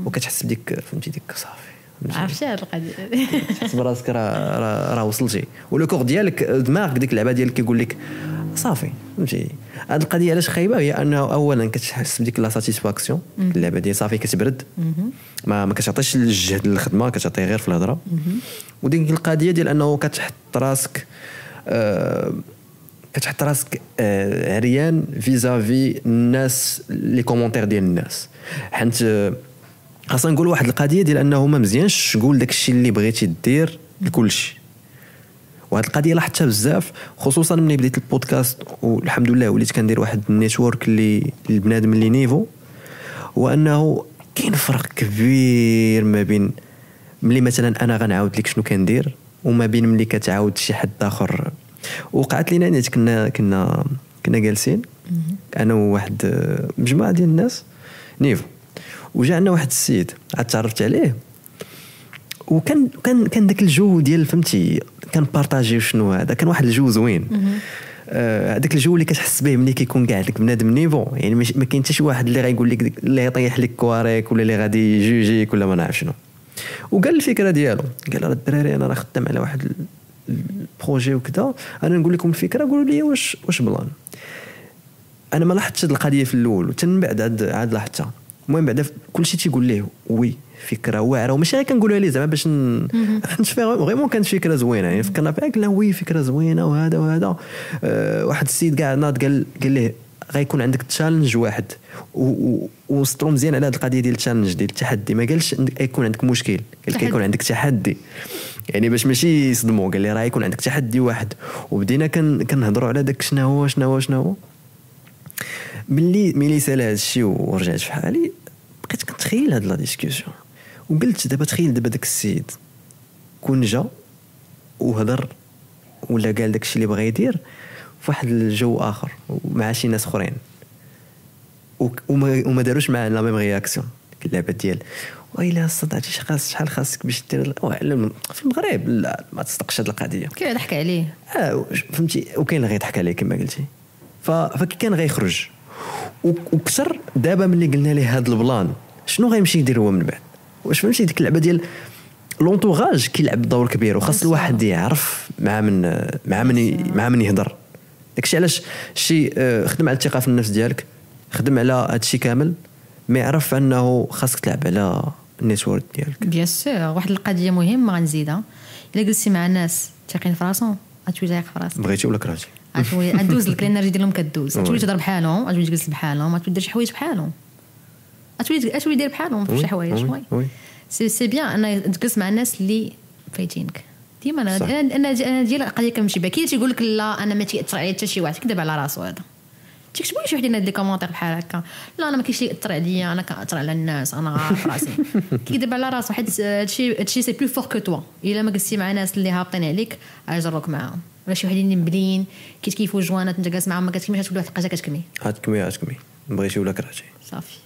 وكتحس بديك فهمتي ديك صافي عرفتي هاد القضية، تحس براسك راه وصلتي، و le corps ديالك دماغك ديك اللعبة ديالك كيقول لك صافي فهمتي. هاد القضية علاش خايبة هي انه اولا كتحس بديك la satisfaction، اللعبة ديال صافي كتبرد، ما كتعطيش الجهد للخدمة، كتعطي غير في الهضرة. وديك القضية ديال انه كتحط راسك عريان vis-à-vis الناس، les commentaires ديال الناس. حيت خاصنا نقول واحد القضية ديال انه ما مزيانش تقول داك الشيء اللي بغيتي دير لكلشي. وهاد القضية لاحظتها بزاف، خصوصا ملي بديت البودكاست والحمد لله وليت كندير واحد ال network اللي البنادم اللي niveau، وانه كاين فرق كبير ما بين ملي مثلا انا غنعاود لك شنو كندير وما بين ملي كتعاود شي حد اخر. وقعت لينا نيت كنا جالسين انا وواحد مجموعة ديال الناس niveau، وجا عندنا واحد السيد عاد تعرفت عليه، وكان كان كان داك الجو ديال فهمتي كان partager شنو هذا، كان واحد الجو زوين. هذاك الجو اللي كتحس به ملي كيكون كاع داك بنادم niveau، يعني ما كاين حتى شي واحد اللي غايقول لك اللي يطيح لك كواريك ولا اللي غادي يجوجيك ولا ما نعرف شنو. وقال الفكرة ديالو، قال راه الدراري انا راه خدام على واحد ال projet وكذا، انا نقول لكم الفكرة قولوا لي واش plan. انا ما لاحظتش هذه القضية في الاول، وحتى من بعد عاد لاحظتها. المهم بعدا كلشي تيقول ليه oui فكرة واعرة، وماشي غير كنقولها ليه زعما باش حيت vraiment كانت فكرة زوينة، يعني فكرنا فيها قلنا oui فكرة زوينة وهذا وهذا. واحد السيد كاع ناض قال ليه غيكون عندك challenge واحد، وسطرو مزيان على هذه القضية ديال ال challenge ديال التحدي. ما قالش يكون عندك مشكل، قال كيكون عندك تحدي، يعني باش ماشي يصدموا. قال لي راه يكون عندك تحدي واحد. وبدينا كنهضروا على داك شنو هو شنو هو شنو هو. ملي سال هذا الشيء ورجعت في حالي، بقيت كنتخيل هاد la discussion، وقلت دابا تخيل دابا داك السيد كون جا وهضر ولا قال داك الشيء اللي بغى يدير في واحد الجو اخر ومع شي ناس اخرين، وما داروش معاه la même réaction. اللعبة ديال ويلا صدعتي شحال خاصك باش دير في المغرب، لا ما تصدقش هاد القضية، كاين ضحك عليه فهمتي، وكاين اللي غيضحك عليه كما قلتي. فكي كان غيخرج وكثر دابا ملي قلنا ليه هاد ال plan شنو غيمشي يدير هو من بعد؟ واش فهمتي ديك اللعبة ديال l'entourage كيلعب دور كبير، وخاص الواحد يعرف مع من يهضر. داكشي علاش شي خدم على الثقة في النفس ديالك، خدم على هادشي كامل، ما يعرف انه خاصك تلعب على ال network ديالك. bien sûr. واحد القضية مهمة غنزيدها، الا جلستي مع ناس ثاقين في راسهم غتولي تايق في راسك، بغيتي ولا كرهتي غتولي غدوز لك ال énergie ديالهم كدوز، غتولي تهضر بحالهم، غتولي تجلس بحالهم، غتولي دير شي حوايج بحالهم، غتولي دير بحالهم في شي حوايج. oui c'est bien ان تجلس مع الناس اللي فايتينك ديما. انا انا ديال القضية كنمشي بها. كاين تيقول لك لا انا ما تياثر عليا حتى شي واحد، كذب على راسو هذا. تيكتبوا لي شي وحدين هاد les commentaires بحال هكا، لا انا ما كاينش اللي ياثر عليا، انا كنأثر على الناس، انا عارف راسي. كيكذب على راسو، حيت هادشي c'est plus fort que toi. الا ما جلستي مع ناس اللي هابطين عليك غيجروك معاهم، ولا شي وحدين اللي مبلين كيتكيفوا جوانات انت جالس معاهم ما كتكميش، غتولي واحد الحاجة كتكمي غتكمي بغيتي ولا كرهتي صافي.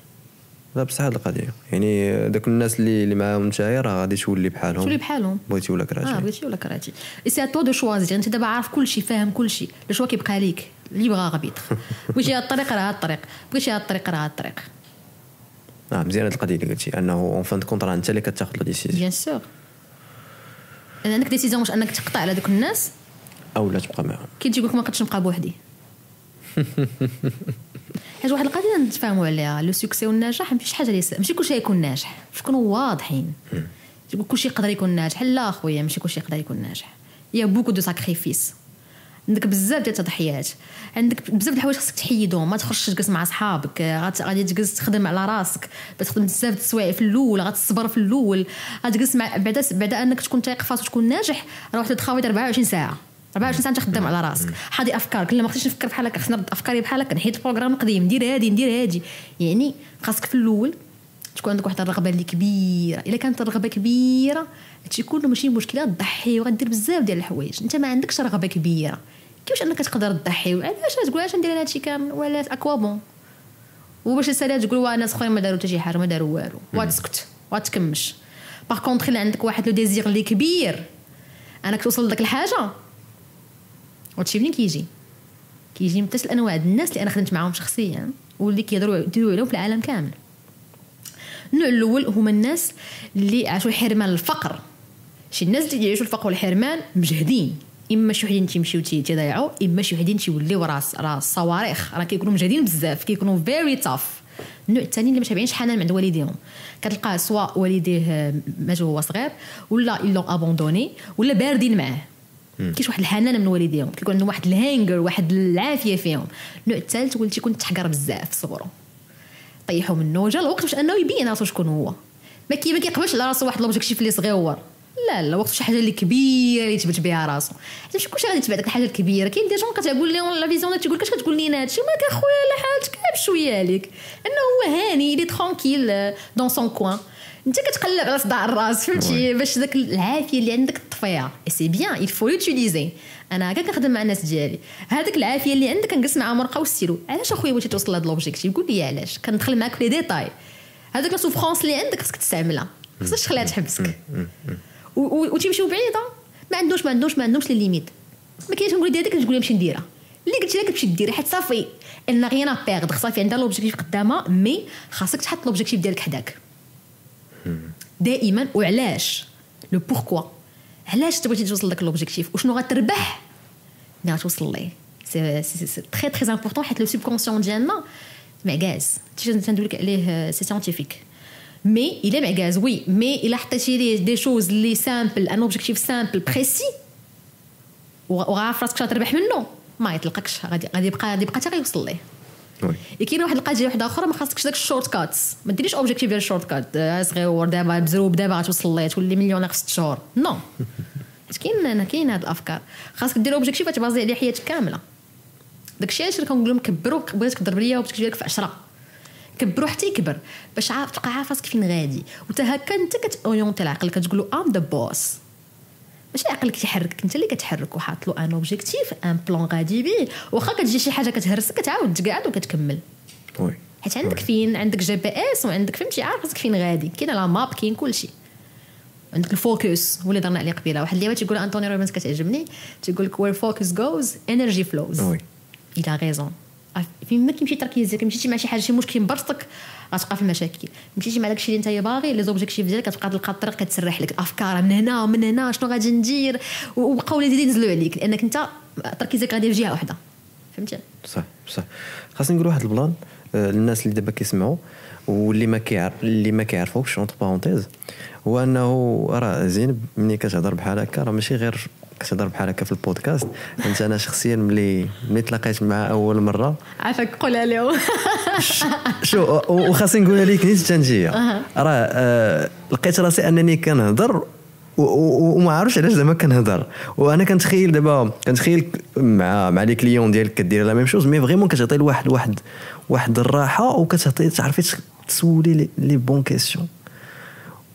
لا بصح هاد القضية يعني داك الناس اللي معاهم نتايا راه غادي تولي بحالهم، تولي بحالهم بغيتي ولا كرهتي. بغيتي ولا كرهتي، c'est à toi de choisir. انت دابا عارف كلشي، فاهم كلشي، le choix كيبقى ليك، libre arbitre. بغيتي هاد الطريق راه هاد الطريق، بغيتي هاد الطريق راه هاد الطريق. مزيان هاد القضية اللي قلتي، انه en fin de compte راه انت اللي كتاخذ la décision. bien sûr عندك décision واش انك تقطع على دوك الناس او لا تبقى معاهم. كي تيقول لك ما نقدش نبقى بوحدي. حيت واحد القضية نتفاهموا عليها، le succès والنجاح ماشي حاجة اللي ماشي كلشي يكون ناجح، باش نكونوا واضحين. تقول كلشي يقدر يكون ناجح، لا خويا ماشي كلشي يقدر يكون ناجح. il y a beaucoup de sacrifices. عندك بزاف ديال التضحيات، عندك بزاف د الحوايج خصك تحيدهم. ما تخرجش تجلس مع صحابك، غادي تجلس تخدم على راسك، تخدم بزاف د السوايع في الاول، غتصبر في الاول، غتجلس مع بعدا انك تكون تايق فاس وتكون ناجح. راه واحد التخاوي 24 ساعة، 24 ساعة انت خدام على راسك، حاضي افكارك. لا ما خصنيش نفكر بحال هكا، خصني نرد افكاري بحال هكا، نحيد ال programme القديم، ندير هادي ندير هادي. يعني خاصك في الاول تكون عندك واحد الرغبة اللي كبيرة. الا كانت الرغبة كبيرة هادشي كله ماشي مشكلة، تضحي وغدير بزاف ديال الحوايج. انت ما عندكش رغبة كبيرة، كيفاش انك تقدر تضحي؟ وعلاش تقول علاش ندير هادشي كامل ولا à quoi bon؟ وباش تسالي تقول واه الناس اخرين ما داروا حتى شي حاجة، ما داروا والو، وتسكت وتكمش. par contre الا عندك واحد le désir اللي كبير انك توصل لداك الحاجة، وهادشي منين كيجي؟ كيجي من ثلاث الانواع الناس اللي انا خدمت معاهم شخصيا واللي كيهضروا يديروا عليهم في العالم كامل. النوع الاول هما الناس اللي عاشوا الحرمان، الفقر. شي الناس اللي يعيشوا الفقر والحرمان مجهدين، اما شي وحدين تيمشيو تيضيعوا، اما شي وحدين تيوليو راس صواريخ، راه كيكونوا مجهدين بزاف، كيكونوا very tough. النوع الثاني اللي ما شابعينش حنان عند والديهم، كتلقاه سواء والديه ماتوا وهو صغير، ولا ils l'ont abandonné، ولا باردين معاه، كاينش واحد الحنان من والديهم، كيكون عندهم واحد ال hunger، واحد العافية فيهم. النوع الثالث هو اللي تيكون تحقر بزاف في صغرو، طيحوا منه، جا الوقت باش انه يبين راسو شكون هو. ما كيقبلش على راسو واحد l'objectif اللي صغيور، لا لا، وقت شي حاجة اللي كبيرة اللي يثبت بها راسو. حيت ماشي كلشي غادي يتبع داك الحاجة الكبيرة. كاين des gens كتقول لهم la vision، تيقول لك اش كتقول لينا هادشي، مالك اخويا لا حالتك بشوية عليك، انه هو هاني il est tranquille dans son coin. انت كتقلب على صداع الراس، فهمتي، باش داك العافية اللي عندك تطفيها. c'est bien، il faut l'utiliser. انا هكا كنخدم مع الناس ديالي، هذاك العافية اللي عندك كنجلس مع ورقة وستيلو. علاش اخويا بغيتي توصل لهاد l'objectif؟ قول لي علاش. كندخل معاك في les détails. هذاك la souffrance اللي عندك خصك تستعملها، خصك تخليها تحبسك وتمشيو بعيدة. ما عندوش ما عندوش ما عندهمش les limites. ما كاينش نقول دير هذيك تقول نمشي نديرها، اللي قلتي لك تمشي ديرها، حيت صافي elle n'a rien à perdre، صافي عندها l'objectif قدامها. mais خاصك تحط l'objectif ديالك حداك دائما. وعلاش؟ le pourquoi، علاش تبغي توصل لك l'objectif وشنو غتربح ملي غتوصل ليه. c'est très très important، حيت le subconscient ديالنا معكاز، تندوي لك عليه c'est scientifique، mais الا معكاز oui، mais الا حطيتي ليه des choses اللي simples، un objectif simple précis وعارف راسك شنو تربح منه، ما يطلقكش، غادي يبقى حتى غيوصل ليه. كاين واحد القضية واحدة اخرى، ما خاصكش داك ال shortcuts، ما ديريش objectif ديال ال shortcut، صغيور دابا بزروب دابا غتوصل ليه تولي مليونير في 6 شهور. non، كاين هاد الافكار. خاصك دير objectif تبازي عليه حياتك كاملة. داكشي علاش كنقول لهم كبروا، بغيتك تضرب ليا objectif ديالك في 10، كبروا حتى يكبر باش عارف تبقى عارف راسك فين غادي. وتا هكا انت كت orienter العقل، كتقول له I'm the boss، ماشي عقلك تيحركك، انت اللي كتحرك وحاط له un objectif، un plan غادي بيه. واخا كتجي شي حاجة كتهرسك كتعاود تقعد وكتكمل. oui، حيت عندك فين، عندك GPS وعندك، فهمتي، عارف راسك فين غادي، كاينه la map، كاين كلشي. عندك ال focus هو اللي درنا عليه قبيلة. واحد اللي تيقول انطوني روبنز كتعجبني، تيقول لك where focus goes energy flows. oui، il a raison. فين ما كيمشي تركيزك، مشيتي مع شي حاجة، شي مشكل مبرزطك، غتبقى في المشاكل. مشيتي مع داكشي اللي انت باغي، les objectifs ديالك، كتبقى تلقى الطريق، كتسرح لك الافكار من هنا ومن هنا، شنو غادي ندير، وبقاو les idées ينزلوا عليك، لانك انت تركيزك غادي في جهة واحده، فهمتي؟ صح. خاصني نقول واحد ال plan للناس اللي دابا كيسمعوا واللي ما كيعرف، اللي ما كيعرفوكش، entre parenthèses، هو انه راه زينب ملي كتهضر بحال هكا راه ماشي غير كتهضر بحال هكا في البودكاست. انت انا شخصيا ملي تلاقيت معها اول مرة، عافاك قولها لهم. شو وخاصني نقولها لك نيت تنجيه، راه لقيت راسي انني كنهضر وما عارفش علاش زعما كنهضر، وانا كنتخيل دابا، كنتخيل مع les clients ديالك كدير la même chose، mais vraiment كتعطي لواحد واحد الراحة، وكتعطي تعرفي تسولي les bonnes questions.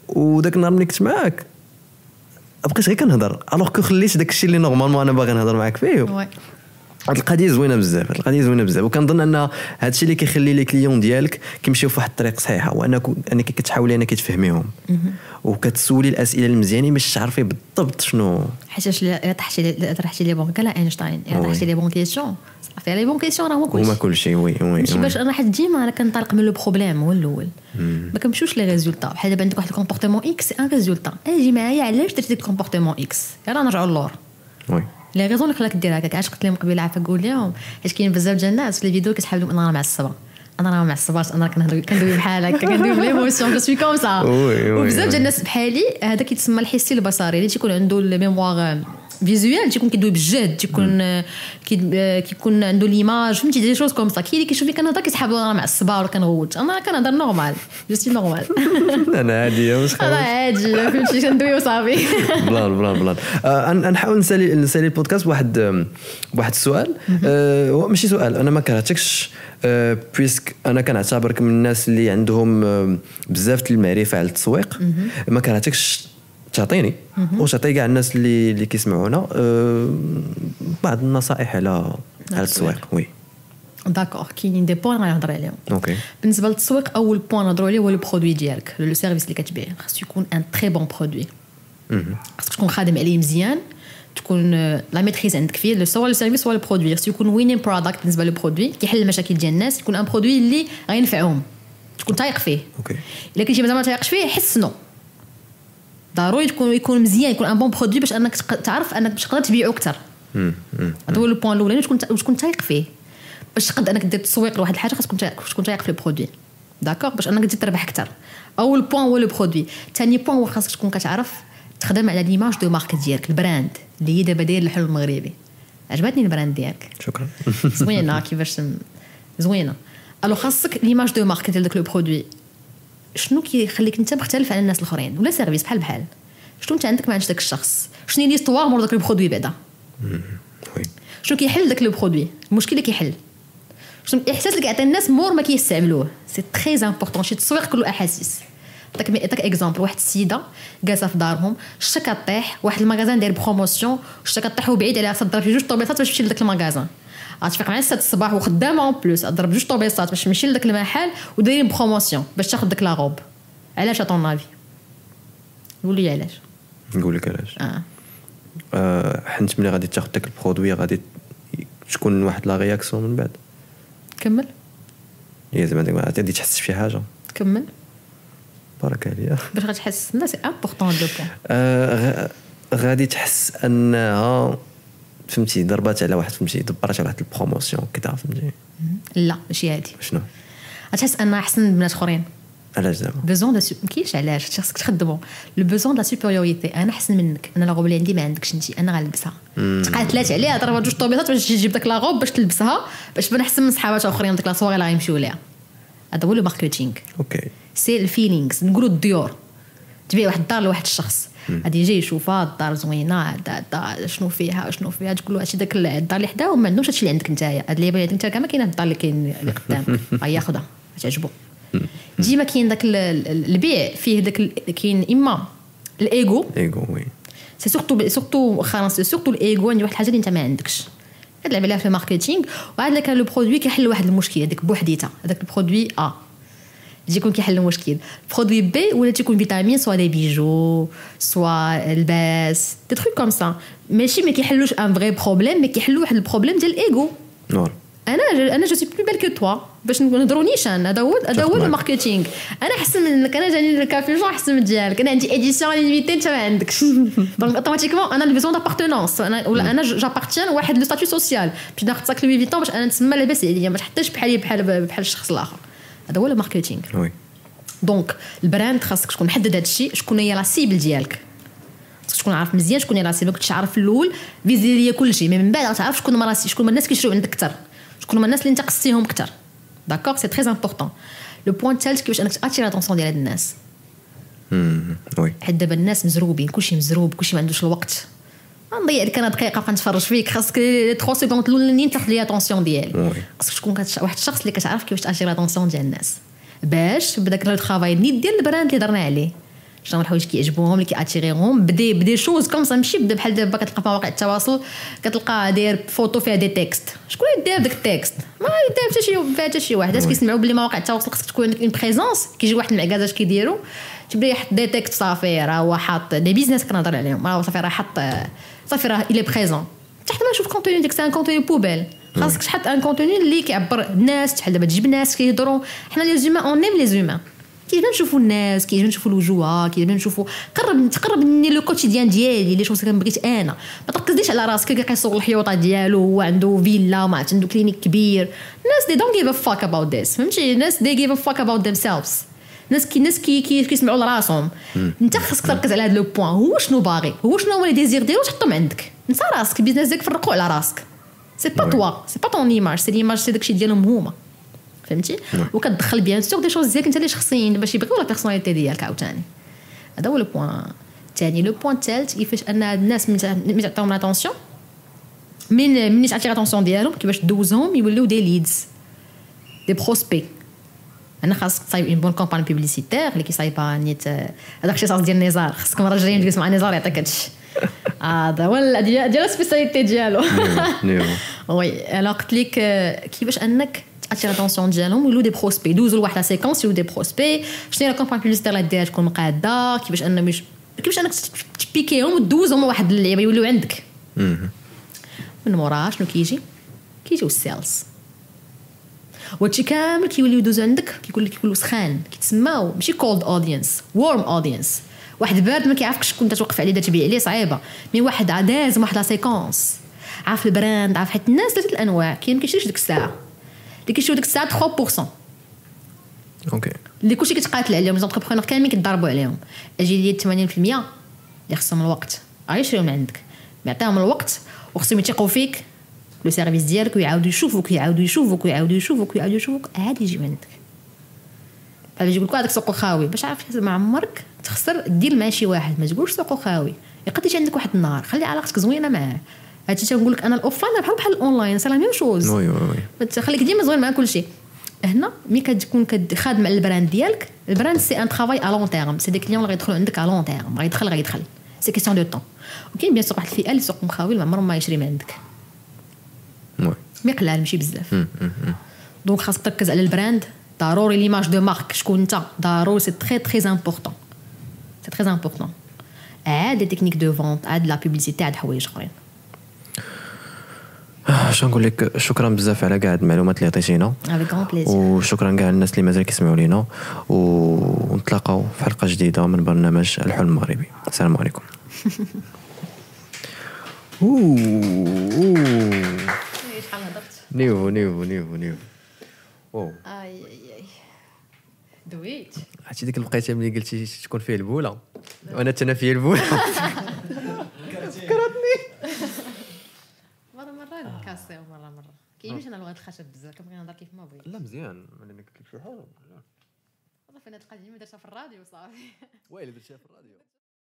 وداك النهار ملي كنت معاك بقيت غير كنهضر، alors que خليت داك الشيء اللي normalement انا باغي نهضر معاك فيه. هاد القضية زوينة بزاف، هاد القضية زوينة بزاف، وكنظن ان هاد الشيء اللي كيخلي les clients ديالك كيمشيو في واحد الطريق صحيحه، وانك انك كتحاولي انك تفهميهم وكتسولي الاسئلة المزيانين باش تعرفي بالضبط شنو. حيت الا طرحتي les bonnes، قالها اينشتاين، الا طرحتي les bonnes questions، صافي، les bonnes questions راه هو كلشي، هما كلشي. oui. ماشي باش انا، حيت ديما انا كنطلق من le problème هو الاول، ما كنمشيوش les résultats. بحال دابا عندك واحد ال comportement X، un résultat، اجي معايا علاش درتي ديك ال comportement X، يلاه نرجعوا للور. Les raisons اللي خلاك دير هكاك. علاش قلت لهم قبيلة عافاك قول لهم، حيت كاين بزاف ديال الناس في les vidéos كيسحاب لهم انا راه معصبه. انا راه معصباش، انا كنهضر كندوي بحال هكا، كندوي ب l'émotion، je suis comme ça. وبزاف ديال الناس بحالي، هذا كيتسمى الحسي البصري، اللي تيكون عنده ال mémoire visuel تيكون كيدوي بالجهد، تيكون كيكون عنده l'image، فهمتي، des choses comme ça. كاين اللي كيشوفني كنهضر كيسحب انا معصبة ولا كنغوت، انا كنهضر normal، je suis normale. انا عادي، مش انا عادي، فهمتي، كندوي وصافي. plan plan plan. نحاول نسالي البودكاست بواحد السؤال. هو ماشي سؤال، انا ما كرهتكش puisque انا كنعتبرك من الناس اللي عندهم بزاف المعرفة على التسويق. ما كرهتكش تعطيني وتعطي كاع الناس اللي كيسمعونا بعض النصائح على التسويق. oui. d'accord، كاينين des points غنهضر عليهم. okay. بالنسبة للتسويق، اول point نهضروا عليه هو le produit ديالك، le service اللي كتبيع خاص يكون un très bon produit، خاصك تكون خادم عليه مزيان، تكون la maîtrise عندك فيه، soit le service soit le produit. خاص يكون winning product. بالنسبة le produit كيحل المشاكل ديال الناس، يكون un produit اللي غينفعهم، تكون تايق فيه. الا كنتي مازال ما تايقش فيه، حسنو. ضروري يكون مزيان، يكون un bon produit باش انك تعرف انك باش تقدر تبيعو اكثر. هذا هو le point الاولاني، تكون تايق فيه باش تقدر انك دير التسويق لواحد الحاجه. خاصك تكون تايق في ال produit، d'accord، باش انك تزيد تربح اكثر. اول point هو le produit. ثاني point هو خاصك تكون كتعرف تخدم على l'image de marque ديالك، ال brand اللي هي دابا داير الحلم المغربي. عجبتني ال brand ديالك. شكرا. زوينه، كيفاش زوينه. alors خاصك l'image de marque ديال داك le produit، شنو كيخليك انت مختلف على الناس الاخرين، ولا service بحال بحال، شنو انت عندك ما عندش داك الشخص، شنو هي l'histoire مور داك le produit بعدا، شنو كيحل داك le produit، المشكل اللي كيحل، شنو الاحساس اللي كيعطي الناس مور ما كيستعملوه. c'est très important. شي التسويق كله احاسيس. نعطيك exemple، واحد السيدة جالسة في دارهم، الشتا كطيح، واحد ال magasin داير promotion، الشتا كطيح وبعيد عليها، تضرب في جوج طوبيسات باش تمشي لذاك ال magasin. غتفيق مع 6 الصباح وخدامه en plus، تضرب جوج طوبيسات باش تمشي لذاك المحل ودايرين promotion باش تاخذ داك la robe. علاش à ton avis؟ قول لي علاش. نقول لك علاش. حيت ملي غادي تاخذ داك ال produit غادي تكون واحد la réaction من بعد. كمل. هي زعما غادي تحس بشي حاجه. كمل. بارك عليا. باش غتحس؟ لا، c'est important le point. غادي تحس انها، فهمتي، ضربات على واحد، فهمتي، دبرات على واحد ال promotion كذا، فهمتي. لا، ماشي هادي. شنو؟ غتحس انها احسن من بنات اخرين. علاش زعما؟ besoin de، ما كاينش علاش، خاصك تخدمو le besoin de supériorité. انا احسن منك، انا la robe اللي عندي ما عندكش انت، انا غنلبسها. تقاتلات عليها، ضربات جوج طوبيسات باش تجيب داك la robe باش تلبسها، باش تبان احسن من صحاباتها اخرين ديك la soirée اللي غيمشيو ليها. هذا هو le marketing. C'est ال feelings. نقولوا الديور، تبيع واحد الدار لواحد الشخص، غادي يجي يشوفها، الدار زوينه، هذا شنو فيها، شنو فيها، تقول له هادشي، داك الدار اللي حداه وما عندهمش هادشي اللي عندك نتايا، هاد اللي عندك انت كاع ما كاينه الدار اللي كاين اللي قدامك، غياخذها، تعجبو. ديما كاين داك البيع فيه داك، كاين اما الايغو. ego، oui. c'est surtout surtout خلاص surtout ال ego، عندي واحد الحاجة اللي انت ما عندكش، كتلعب عليها في ال marketing. وعاد كان le produit كيحل واحد المشكل هذيك بوحديتها، هذاك ال produit A تيكون كيحل المشكل، produit B ولا تيكون vitamine، soit des bijoux، soit الباس، des trucs comme ça، ماشي ما كيحلوش un vrai problème، mais كيحلوا واحد ال problème ديال الايغو. انا je suis plus belle que toi، باش نهضروا نيشان، هذا هو ال marketing. انا احسن منك، انا جاني ال capuchon احسن من ديالك، انا عندي édition limitée، انت ما عندكش. donc automatiquement انا ال besoin d'appartenance، انا ولا انا j'appartiens واحد le statut social، باش ناخذ sac Louis Vuitton باش انا نتسمى لاباس عليا، ما تحطش بحالي بحال الشخص الاخر. هذا هو ال marketing. Donc ال brand خاصك تكون محدد هذا الشيء، شكون هي la cible ديالك، خاصك تكون عارف مزيان شكون هي la cible. كنتش عارف في الاول، viser ليا كلشي، mais من بعد غتعرف شكون هما، شكون هما الناس كيشريو عندك اكثر، شكون هما الناس اللي انت قصتيهم اكثر. d'accord، c'est très important. le point الثالث، كيفاش انك attirer l'attention ديال هاد الناس. oui. حيت دابا الناس مزروبين، كلشي مزروب، كلشي ما عندوش الوقت. نضيع لك انا دقيقة بقى نتفرج فيك، خاصك 3 secondes الاولانيين تاخذ لي l'attention ديالي. خاصك تكون واحد الشخص اللي كتعرف كيفاش attirer l'attention ديال الناس، باش بداك le travail نيت ديال ال brand اللي درنا عليه، شنو الحوايج كيعجبوهم، اللي كي attirer هم ب des choses comme ça. ماشي بدا بحال دابا كتلقى في مواقع التواصل كتلقى داير فوتو فيها des textes. شكون اللي داير داك ال texte؟ ما يدير حتى شي فيها حتى شي واحد. الناس كيسمعوا بلي مواقع التواصل خصك تكون عندك une présence، كيجي واحد المعكازه اش كيديروا؟ تبدا يحط des textes، صافي راه هو حاط des business كنهضر عليهم، راه صافي راه حط، صافي راه il est présent. تحت ما نشوف contenu ديك c'est un contenu poubelle. خاصك تحط un contenu اللي كيعبر الناس، بحال دابا تجيب ناس كيهضروا. حنا les humains، on aime les humains، كيعجبنا نشوفوا الناس، كيعجبنا نشوفوا الوجوه، كيعجبنا نشوفوا قرب تقرب مني le quotidien ديالي، les choses كنبغيت انا. ما تركزليش على راسك، كيصور الحيوطه ديالو، هو عنده فيلا وما عرفت عنده clinique كبير. الناس they don't give a fuck about this، فهمتي؟ الناس they give a fuck about themselves. الناس كي كيسمعوا لراسهم. انت خاصك تركز على هذا le point، هو شنو باغي، هو شنو هو les désirs ديالو، تحطهم عندك. انت راسك ال business ديالك فرقوا على راسك، c'est pas toi، c'est pas ton image، c'est l'image، c'est داكشي ديالهم هما، فهمتي؟ وكتدخل bien sûr des choses ديالك انت اللي شخصيين باش يبغيو la personnalité ديالك عاوتاني. هذا هو le point الثاني. le point الثالث، كيفاش ان الناس ملي تعطيهم l'attention، من تعطي l'attention ديالهم، كيفاش دوزهم يوليو des leads، des prospects. انا خاصك تصايب une bonne campagne publicitaire اللي كيصايبها نيت هذاك الاختصاص ديال نزار. خاصك المرة الجاية نجلس مع نزار يعطيك هادشي، هذا هو ديال spécialité ديالو. oui، alors قلت لك كيفاش انك تاتير l'attention ديالهم يولوا des prospects، دوزو لواحد la séquence يولوا des prospects. شنو هي la campagne publicitaire اللي ديرها تكون مقاده، كيفاش انك تبيكيهم وتدوزهم واحد اللعيبة يوليو عندك. من موراها شنو كيجي؟ كيجيو ال sales، وهادشي كامل كيوليو يدوزو عندك، كيقول لك كيوليو سخان، كيتسماو ماشي cold audience، warm audience. واحد بارد ما كيعرفكش شكون توقف عليه تبيع عليه صعيبه، mais واحد داز واحد la séquence، عارف ال brand، عارف، حيت الناس ثلاثة الانواع، كاين ما كيشريش ديك الساعه، اللي كيشريو ديك الساعة 3%. اللي كلشي كيتقاتل عليهم، les entrepreneurs كاملين كيضربوا عليهم. اجي لي 80% اللي خصهم الوقت، غيشريو من عندك، يعطيهم الوقت وخصهم يثيقوا فيك le service ديالك ويعاودوا يشوفوك، يعاودوا يشوفوك، ويعاودوا يشوفوك، ويعاودوا يشوفوك، عاد يجيو عندك. فاش يقول لك هذاك سوق خاوي، باش عارف ما عمرك تخسر دير مع شي واحد، ما تقولش سوق خاوي، يقدر يجي عندك واحد النهار، خلي علاقتك زوينة معاه. هادشي تنقول لك انا ال offline بحال ال online، c'est la même chose. oui oui oui، خليك ديما زوين مع كلشي. هنا ملي كتكون خادم على ال brand ديالك، ال brand c'est un travail à long terme، c'est des clients اللي غيدخلوا عندك à long terme، غيدخل c'est question de temps. وكاين bien sûr واحد الفئة اللي سوق مخاوي ما عمرهم ما يشري من عندك، mais قلال ماشي بزاف. donc خاصك تركز على ال brand ضروري، l'image de marque، شكون انت ضروري، c'est très très important، c'est très important. عاد les techniques de vente، عاد la publicité، عاد حوايج اخرين. اش نقول لك، شكرا بزاف على كاع المعلومات اللي عطيتينا. avec grand plaisir. وشكرا كاع الناس اللي مازال كيسمعوا لينا، ونتلاقاو في حلقة جديدة من برنامج الحلم المغربي. السلام عليكم. شحال هضرت؟ niveau niveau niveau niveau، wow. اي اي اي، دويت. عرفتي ديك الوقيته ملي قلتي تكون فيه البوله وانا تنا فيه البوله فكرتني. مرة مرة نكاسيو، مرة مرة كاينش. انا لغة الخشب بزاف، كنبغي نهضر كيف ما بغيت. لا مزيان، انا قلت لك شي حاجة. صافي، انا القضية درتها في الراديو صافي. ويلي درتيها في الراديو.